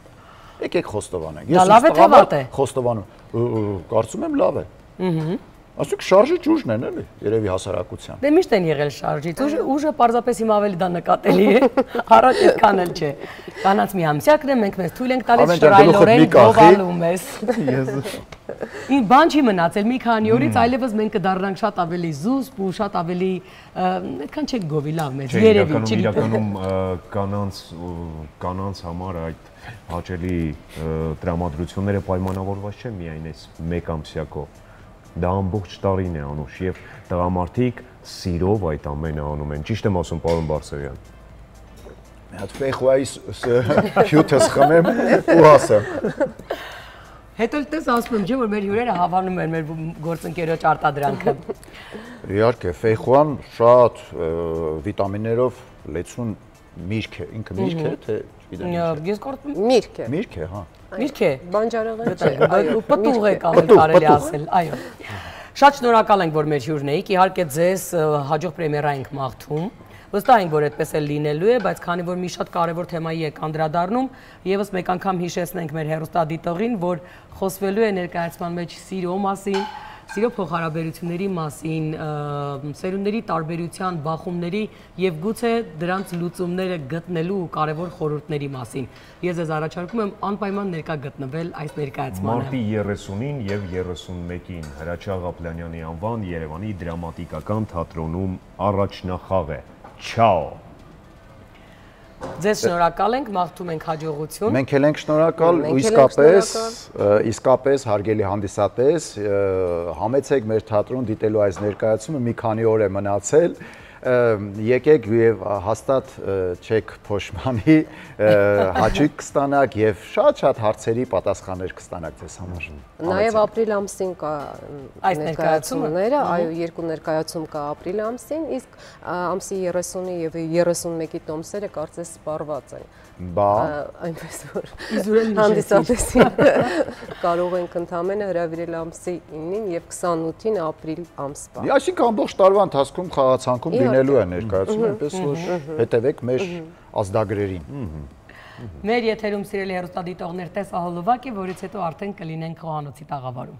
Եկեք խոստովանենք։ Դա լավ է թե վատ է։ Խոստովանում, կարծում եմ լավ է։ Ըհը։ Ասենք շարժի ճուժն են էլի, երևի հասարակության։ Դե միշտ են եղել շարժից, ուժը պարզապես հիմա ավելի դա նկատելի է, առաջ այդքան էլ չէ։ Կանանց մի ամսյակն է, մենք մեզ թույլ ենք տալիս շռայլորեն գովալում ես։ Ին բան չի մնացել, մի քանի օրից այլևս մենք կդառնանք շատ ավելի զուսպ ու շատ ավելի այդքան չենք գովի լավ մեզ, երևի, չգիտեմ։ Իրականում կանանց կանանց համար այդ հաճելի տրամադրությունները պայմանավորված չէ միայն այս մեկ ամսյակով։ Դա ամբողջ տարին է անուշ եւ տղամարդիկ սիրով այդ ամենը անում են։ Ճիշտ եմ ասում, պարոն Բարսեղյան։ Մի հատ ֆեյխուայի հյութս խմեմ ու ասեմ։ Հետո էլ տես ասում եմ, չէ՞ որ մեր հյուրերը հավանում են մեր գործընկերոջ արտադրանքը։ Իհարկե, ֆեյխուան շատ վիտամիններով լեցուն միրգ է, ինքը միրգ է, թե գիտեմ։ Ես կարծում եմ միրգ է։ Միրգ է, հա։ Միրգ է։ Բանջարեղեն չէ, այո, պտուղ է կարելի ասել, այո։ Շատ շնորհակալ ենք, որ մեր հյուրն եք, իհարկե ձեզ հաջող պրեմիերա ենք մաղթում։ Վստահ ենք, որ այդպես էլ լինելու է, բայց քանի որ մի շատ կարևոր թեմայի եք անդրադառնում, եւս մեկ անգամ հիշեցնենք մեր հեռուստադիտողին, որ խոսվելու է ներկայացման մեջ սիրո մասին, սիրո փոխհարաբերությունների մասին, սերունդների տարբերության, բախումների եւ գուցե դրանց լուծումները գտնելու կարևոր խորհուրդների մասին։ Ես ձեզ առաջարկում եմ անպայման ներկա գտնվել այս ներկայացմանը։ Մարտի երեսունին եւ երեսունմեկին Հրաչյա Ղապլանյանի անվան Երևանի դրամատիկական թատրոնում առաջնախաղ է։ Չաո։ Ձեզ շնորհակալ ենք, մաղթում ենք հաջողություն։ Մենք էլ ենք շնորհակալ ու իսկապես, իսկապես հարգելի հանդիսատես, համեցեք մեր թատրոն դիտելու այս ներկայացումը, մի քանի օր է մնացել, եկեք եւ հաստատ չեք փոշմանի, հաճույք կստանաք եւ շատ-շատ հարցերի պատասխաններ կստանաք ձեզ համար։ Նաեւ ապրիլ ամսին կա այս ներկայացումները, այո, երկու ներկայացում կա ապրիլ ամսին, իսկ ամսի երեսունի եւ երեսունմեկի տոմսերը կարծես սպառված են։ Բա այնպես որ հանդիսատեսին կարող ենք ընդամենը հրավիրել ամսի ինին եւ քսանութին ապրիլ ամսվա։ Այսինքն ամբողջ տարվա ընթացքում խաղացանկում լինելու է ներկայացում, այնպես որ հետևեք մեր ազդագրերին։ Մեր եթերում սիրելի հեռուստադիտողներ տեսահոլովակ է, որից հետո արդեն կլինենք խոհանոցի տաղավարում։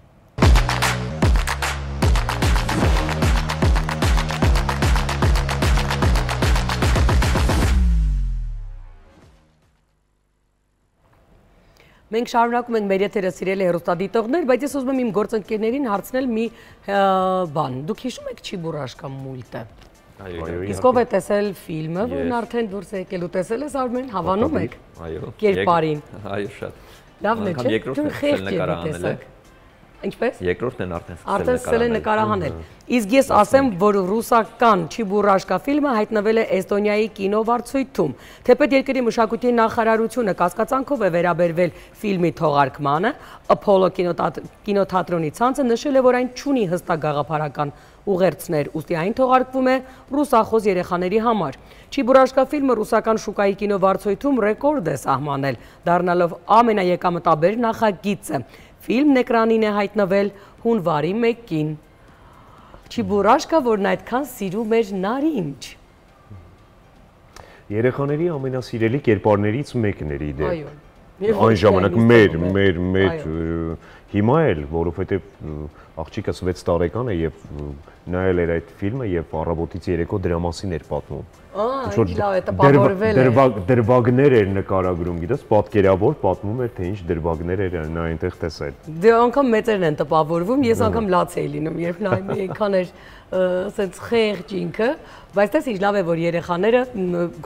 Մենք շարունակում ենք մեր եթերը սիրելի հեռուստադիտողներ, բայց ես ուզում եմ իմ գործընկերներին հարցնել մի բան։ Դուք հիշում եք Չիբուրաշկա մուլտը։ Իսկ ով է տեսել ֆիլմը, որն արդեն դուրս է եկել ու տեսել ես Արմեն, հավանում եք։ Այո։ Կերպարին։ Այո, շատ։ Լավն է, չէ՞։ Դու խեղճ եք։ Ինչպես։ Երկրորդն են արդեն արդեն սկսել են նկարահանել։ Իսկ ես ասեմ, որ ռուսական Չիբուրաշկա ֆիլմը հայտնվել է Էստոնիայի կինովարձույթում։ Թեպետ երկրի մշակույթի նախարարությունը կասկածանքով է վերաբերվել ֆիլմի թողարկմանը, Apollo կինոթատրոնի ցանցը նշել է, որ այն չունի հստակ գաղափարական ուղերձներ, ուստի այն թողարկվում է ռուսախոս երեխաների համար։ Չիբուրաշկա ֆիլմը ռուսական շուկայի կինովարձույթում ռեկորդ է սահմանել, դառնալով ամենաեկամտաբեր նախագիծը։ Ֆիլմն էկրանին է հայտնվել հունվարի մեկին։ Չիբուրաշկա, որն այդքան սիրում էր Նարինջ։ Երեխաների ամենասիրելի կերպարներից մեկն էր իդե։ Այո։ Այն ժամանակ մեր, մեր, մեր հիմա էլ, որովհետև աղջիկս վեց տարեկան է եւ նայել էր այդ ֆիլմը եւ առավոտից երեկո դրա մասին էր պատմում։ Ահա, լավ է, տպավորվել է։ Դրվագներ էր նկարագրում, գիտես, պատկերավոր պատմում էր, թե ինչ դրվագներ էր նա այնտեղ տեսել։ Դե անգամ մեծերն են տպավորվում, ես անգամ լաց էի լինում, երբ նայում էի այնքան էր ասենց խեղճ ինքը, բայց դες ինչ լավ է, որ երեխաները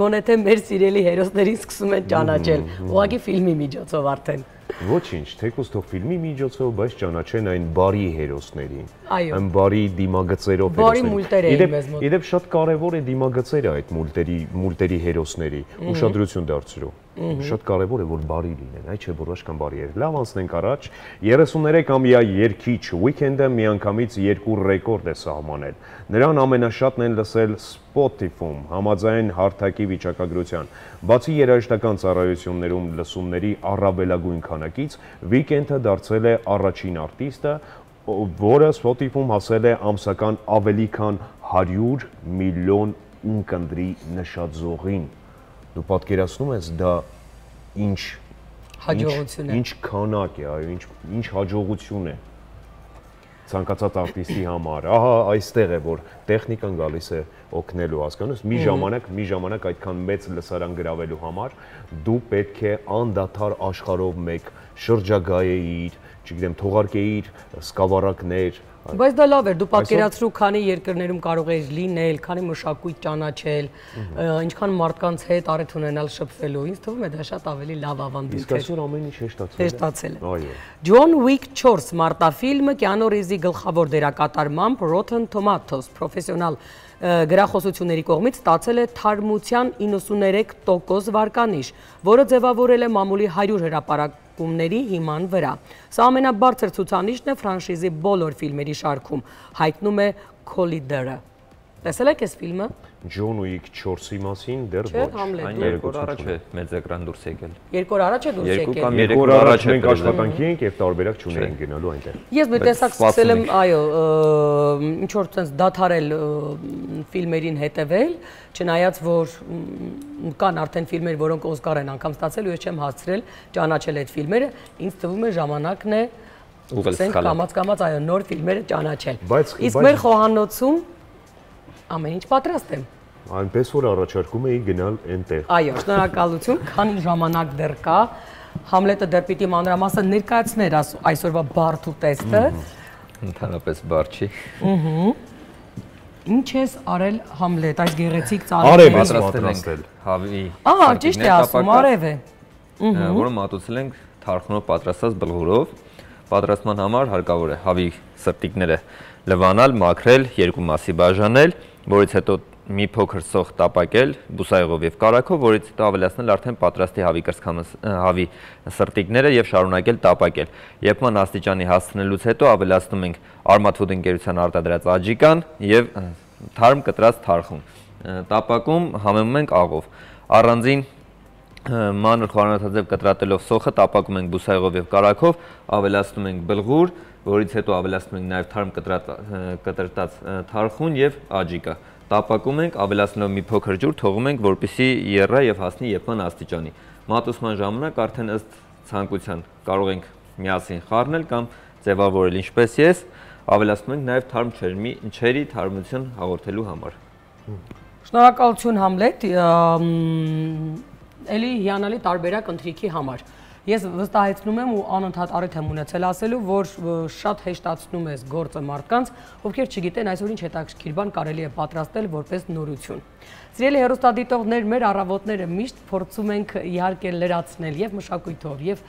գոնե թե մեր սիրելի հերոսներին սկսում են ճանաչել, ուղղակի ֆիլմի միջոցով արդեն։ Ոչինչ, թեկուզ թող ֆիլմի միջոցով, բայց ճանաչեն այն բարի հերոսներին, Այո։ այն բարի դիմագծերով Բարի մուլտեր էին մեզ մոտ։ Իդեպ շատ կարևոր է դիմագծերը այդ մուլտերի, մուլտերի հերոսների, ուշադրություն դարձրու։ Շատ կարևոր է, որ բարի լինեն, այ չէ բուրաշկան բարի էր։ Լավ անցնենք առաջ, երեսուններեքամյա երգիչ Weekend-ը միանգամից երկու ռեկորդ է սահմանել։ Նրան ամենաշատն են լսել Spotify-ում, համաձայն հարթակի վիճակագրության։ Բացի երաժշտական ծառայություններում լսումների առավելագույն քանակից, Weekend-ը դարձել է առաջին արտիստը, որը Spotify-ում հասել է ամսական ավելի քան հարյուր միլիոն ունկնդրի նշաձողին։ Դու պատկերացնում ես դա ինչ հաջողություն է։ Ինչ քանակ է, այո, ինչ ինչ հաջողություն է ցանկացած արտիստի համար։ Ահա այստեղ է, որ տեխնիկան գալիս է օգնելու, հասկանու՞ս։ Մի ժամանակ, մի ժամանակ այդքան մեծ լսարան գրավելու համար դու պետք է անդադար աշխարհով մեկ շրջագայեիր, չգիտեմ, թողարկեիր սկավառակներ։ Բայց դա լավ էր, դու պատկերացրու, քանի երկրներում կարող ես լինել, քանի մշակույթ ճանաչել, ինչքան մարդկանց հետ առիթ ունենալ շփվելու, ինձ թվում է դա շատ ավելի լավ ավանդույթ է։ Իսկ այսօր ամեն ինչ հեշտացել է։ Հեշտացել է։ Այո։ John Wick չորս մարտաֆիլմը Կիանու Ռիվզի գլխավոր դերակատարմամբ Rotten Tomatoes պրոֆեսիոնալ գրախոսությունների կողմից ստացել է թարմության իննսուններեք տոկոս վարկանիշ, որը ձևավորել է մամուլի հարյուր հրապարակումների հիման վրա։ Սա ամենաբարձր ցուցանիշն է ֆրանշիզի բոլոր ֆիլմերի շարքում, հայտնում է Collider-ը։ Տեսել եք այս ֆիլմը։ John Wick չորսի մասին դեռ Չէ, ոչ։ Համլետ։ Այն երկու օր առաջ է մեծ էկրան դուրս եկել։ Երկու օր առաջ է դուրս Երկու եկել։ կամ Երկու օր առաջ մենք աշխատանքի ենք եւ տարբերակ չունենք գնալու այնտեղ։ Ես մի տեսակ սկսել եմ, այո, ինչ որ sense դադարել ֆիլմերին հետևել, չնայած որ կան արդեն ֆիլմեր, որոնք Օսկար են անգամ ստացել ու ես չեմ հասցրել ճանաչել այդ ֆիլմերը, ինձ թվում է ժամանակն է ուղղել կամած-կամած այո նոր ֆիլմերը ճանաչել։ Իսկ մեր խոհանոցում ամեն ինչ պատրաստ եմ։ Այնպես որ առաջարկում էի գնալ այնտեղ։ Այո, շնորհակալություն, քանի ժամանակ դեռ կա։ Համլետը դեռ պիտի մանրամասն ներկայացներ այսօրվա բարդ ու տեստը։ Ընդհանրապես բարդ չի։ Ահա։ Ինչ ես արել Համլետ, այս գեղեցիկ ծառը։ Արև պատրաստել հավի։ Ահա, ճիշտ է ասում, արև է։ Որը մատուցել ենք թարխնով պատրաստած բլղուրով։ Պատրաստման համար հարկավոր է հավի սրտիկները լվանալ, մաքրել, երկու մասի բաժանել, որից հետո մի փոքր սոխ տապակել բուսայղով եւ կարագով, որից հետո ավելացնել արդեն պատրաստի հավի կրծքամս հավի սրտիկները եւ շարունակել տապակել։ Եփման աստիճանի հասցնելուց հետո ավելացնում ենք Armatfood ընկերության արտադրած աջիկան եւ թարմ կտրած թարխուն։ Տապակում համեմում ենք աղով։ Առանձին մանր խորանոցաձև կտրատելով սոխը տապակում ենք բուսայղով եւ կարագով, ավելացնում ենք բլղուր, որից հետո ավելացնում ենք նաև թարմ կտրատած թարխուն եւ աջիկա։ Տապակում ենք, ավելացնելով մի փոքր ջուր, թողում ենք, որպեսզի եռա եւ հասնի եփման աստիճանի։ Մատուցման ժամանակ արդեն ըստ ցանկության կարող ենք միասին խառնել կամ ձևավորել ինչպես ես, ավելացնում ենք նաև թարմ չերմի, չերի թարմություն հաղորդելու համար։ Շնորհակալություն Համլետ, էլի հիանալի տարբերակ ընթրիքի համար։ Ես վստահեցնում եմ ու անընդհատ առիթ եմ ունեցել ասելու, որ շատ հեշտացնում ես գործը մարդկանց, ովքեր չգիտեն այսօր ինչ հետաքրքիր բան կարելի է պատրաստել որպես նորություն։ Սիրելի հեռուստադիտողներ, մեր առավոտները միշտ փորձում ենք իհարկե լրացնել եւ մշակույթով, եւ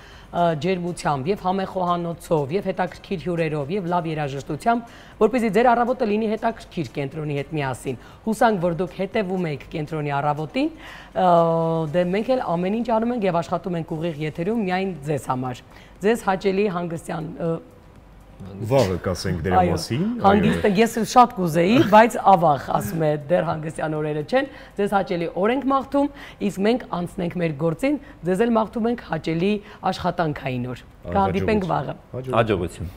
ջերմությամբ, եւ համեխոհանոցով, եւ հետաքրքիր հյուրերով, եւ լավ երաժշտությամբ, որպեսզի ձեր առավոտը լինի հետաքրքիր կենտրոնի հետ միասին։ Հուսանք, որ դուք հետևում եք կենտրոնի առավոտին, դե մենք էլ ամեն ինչ անում ենք եւ աշխատում ենք ուղիղ եթերում միայն ձեզ համար։ Ձեզ հաճելի հանգստյան Վաղը կասենք դրա մասին։ Հանգիստ ես շատ կուզեի, բայց ավաղ ասում է դեռ հանգստյան օրերը չեն։ Ձեզ հաճելի օր ենք մաղթում, իսկ մենք անցնենք մեր գործին, ձեզ էլ մաղթում ենք հաճելի աշխատանքային օր։ Կհանդիպենք վաղը։ Հաջողություն։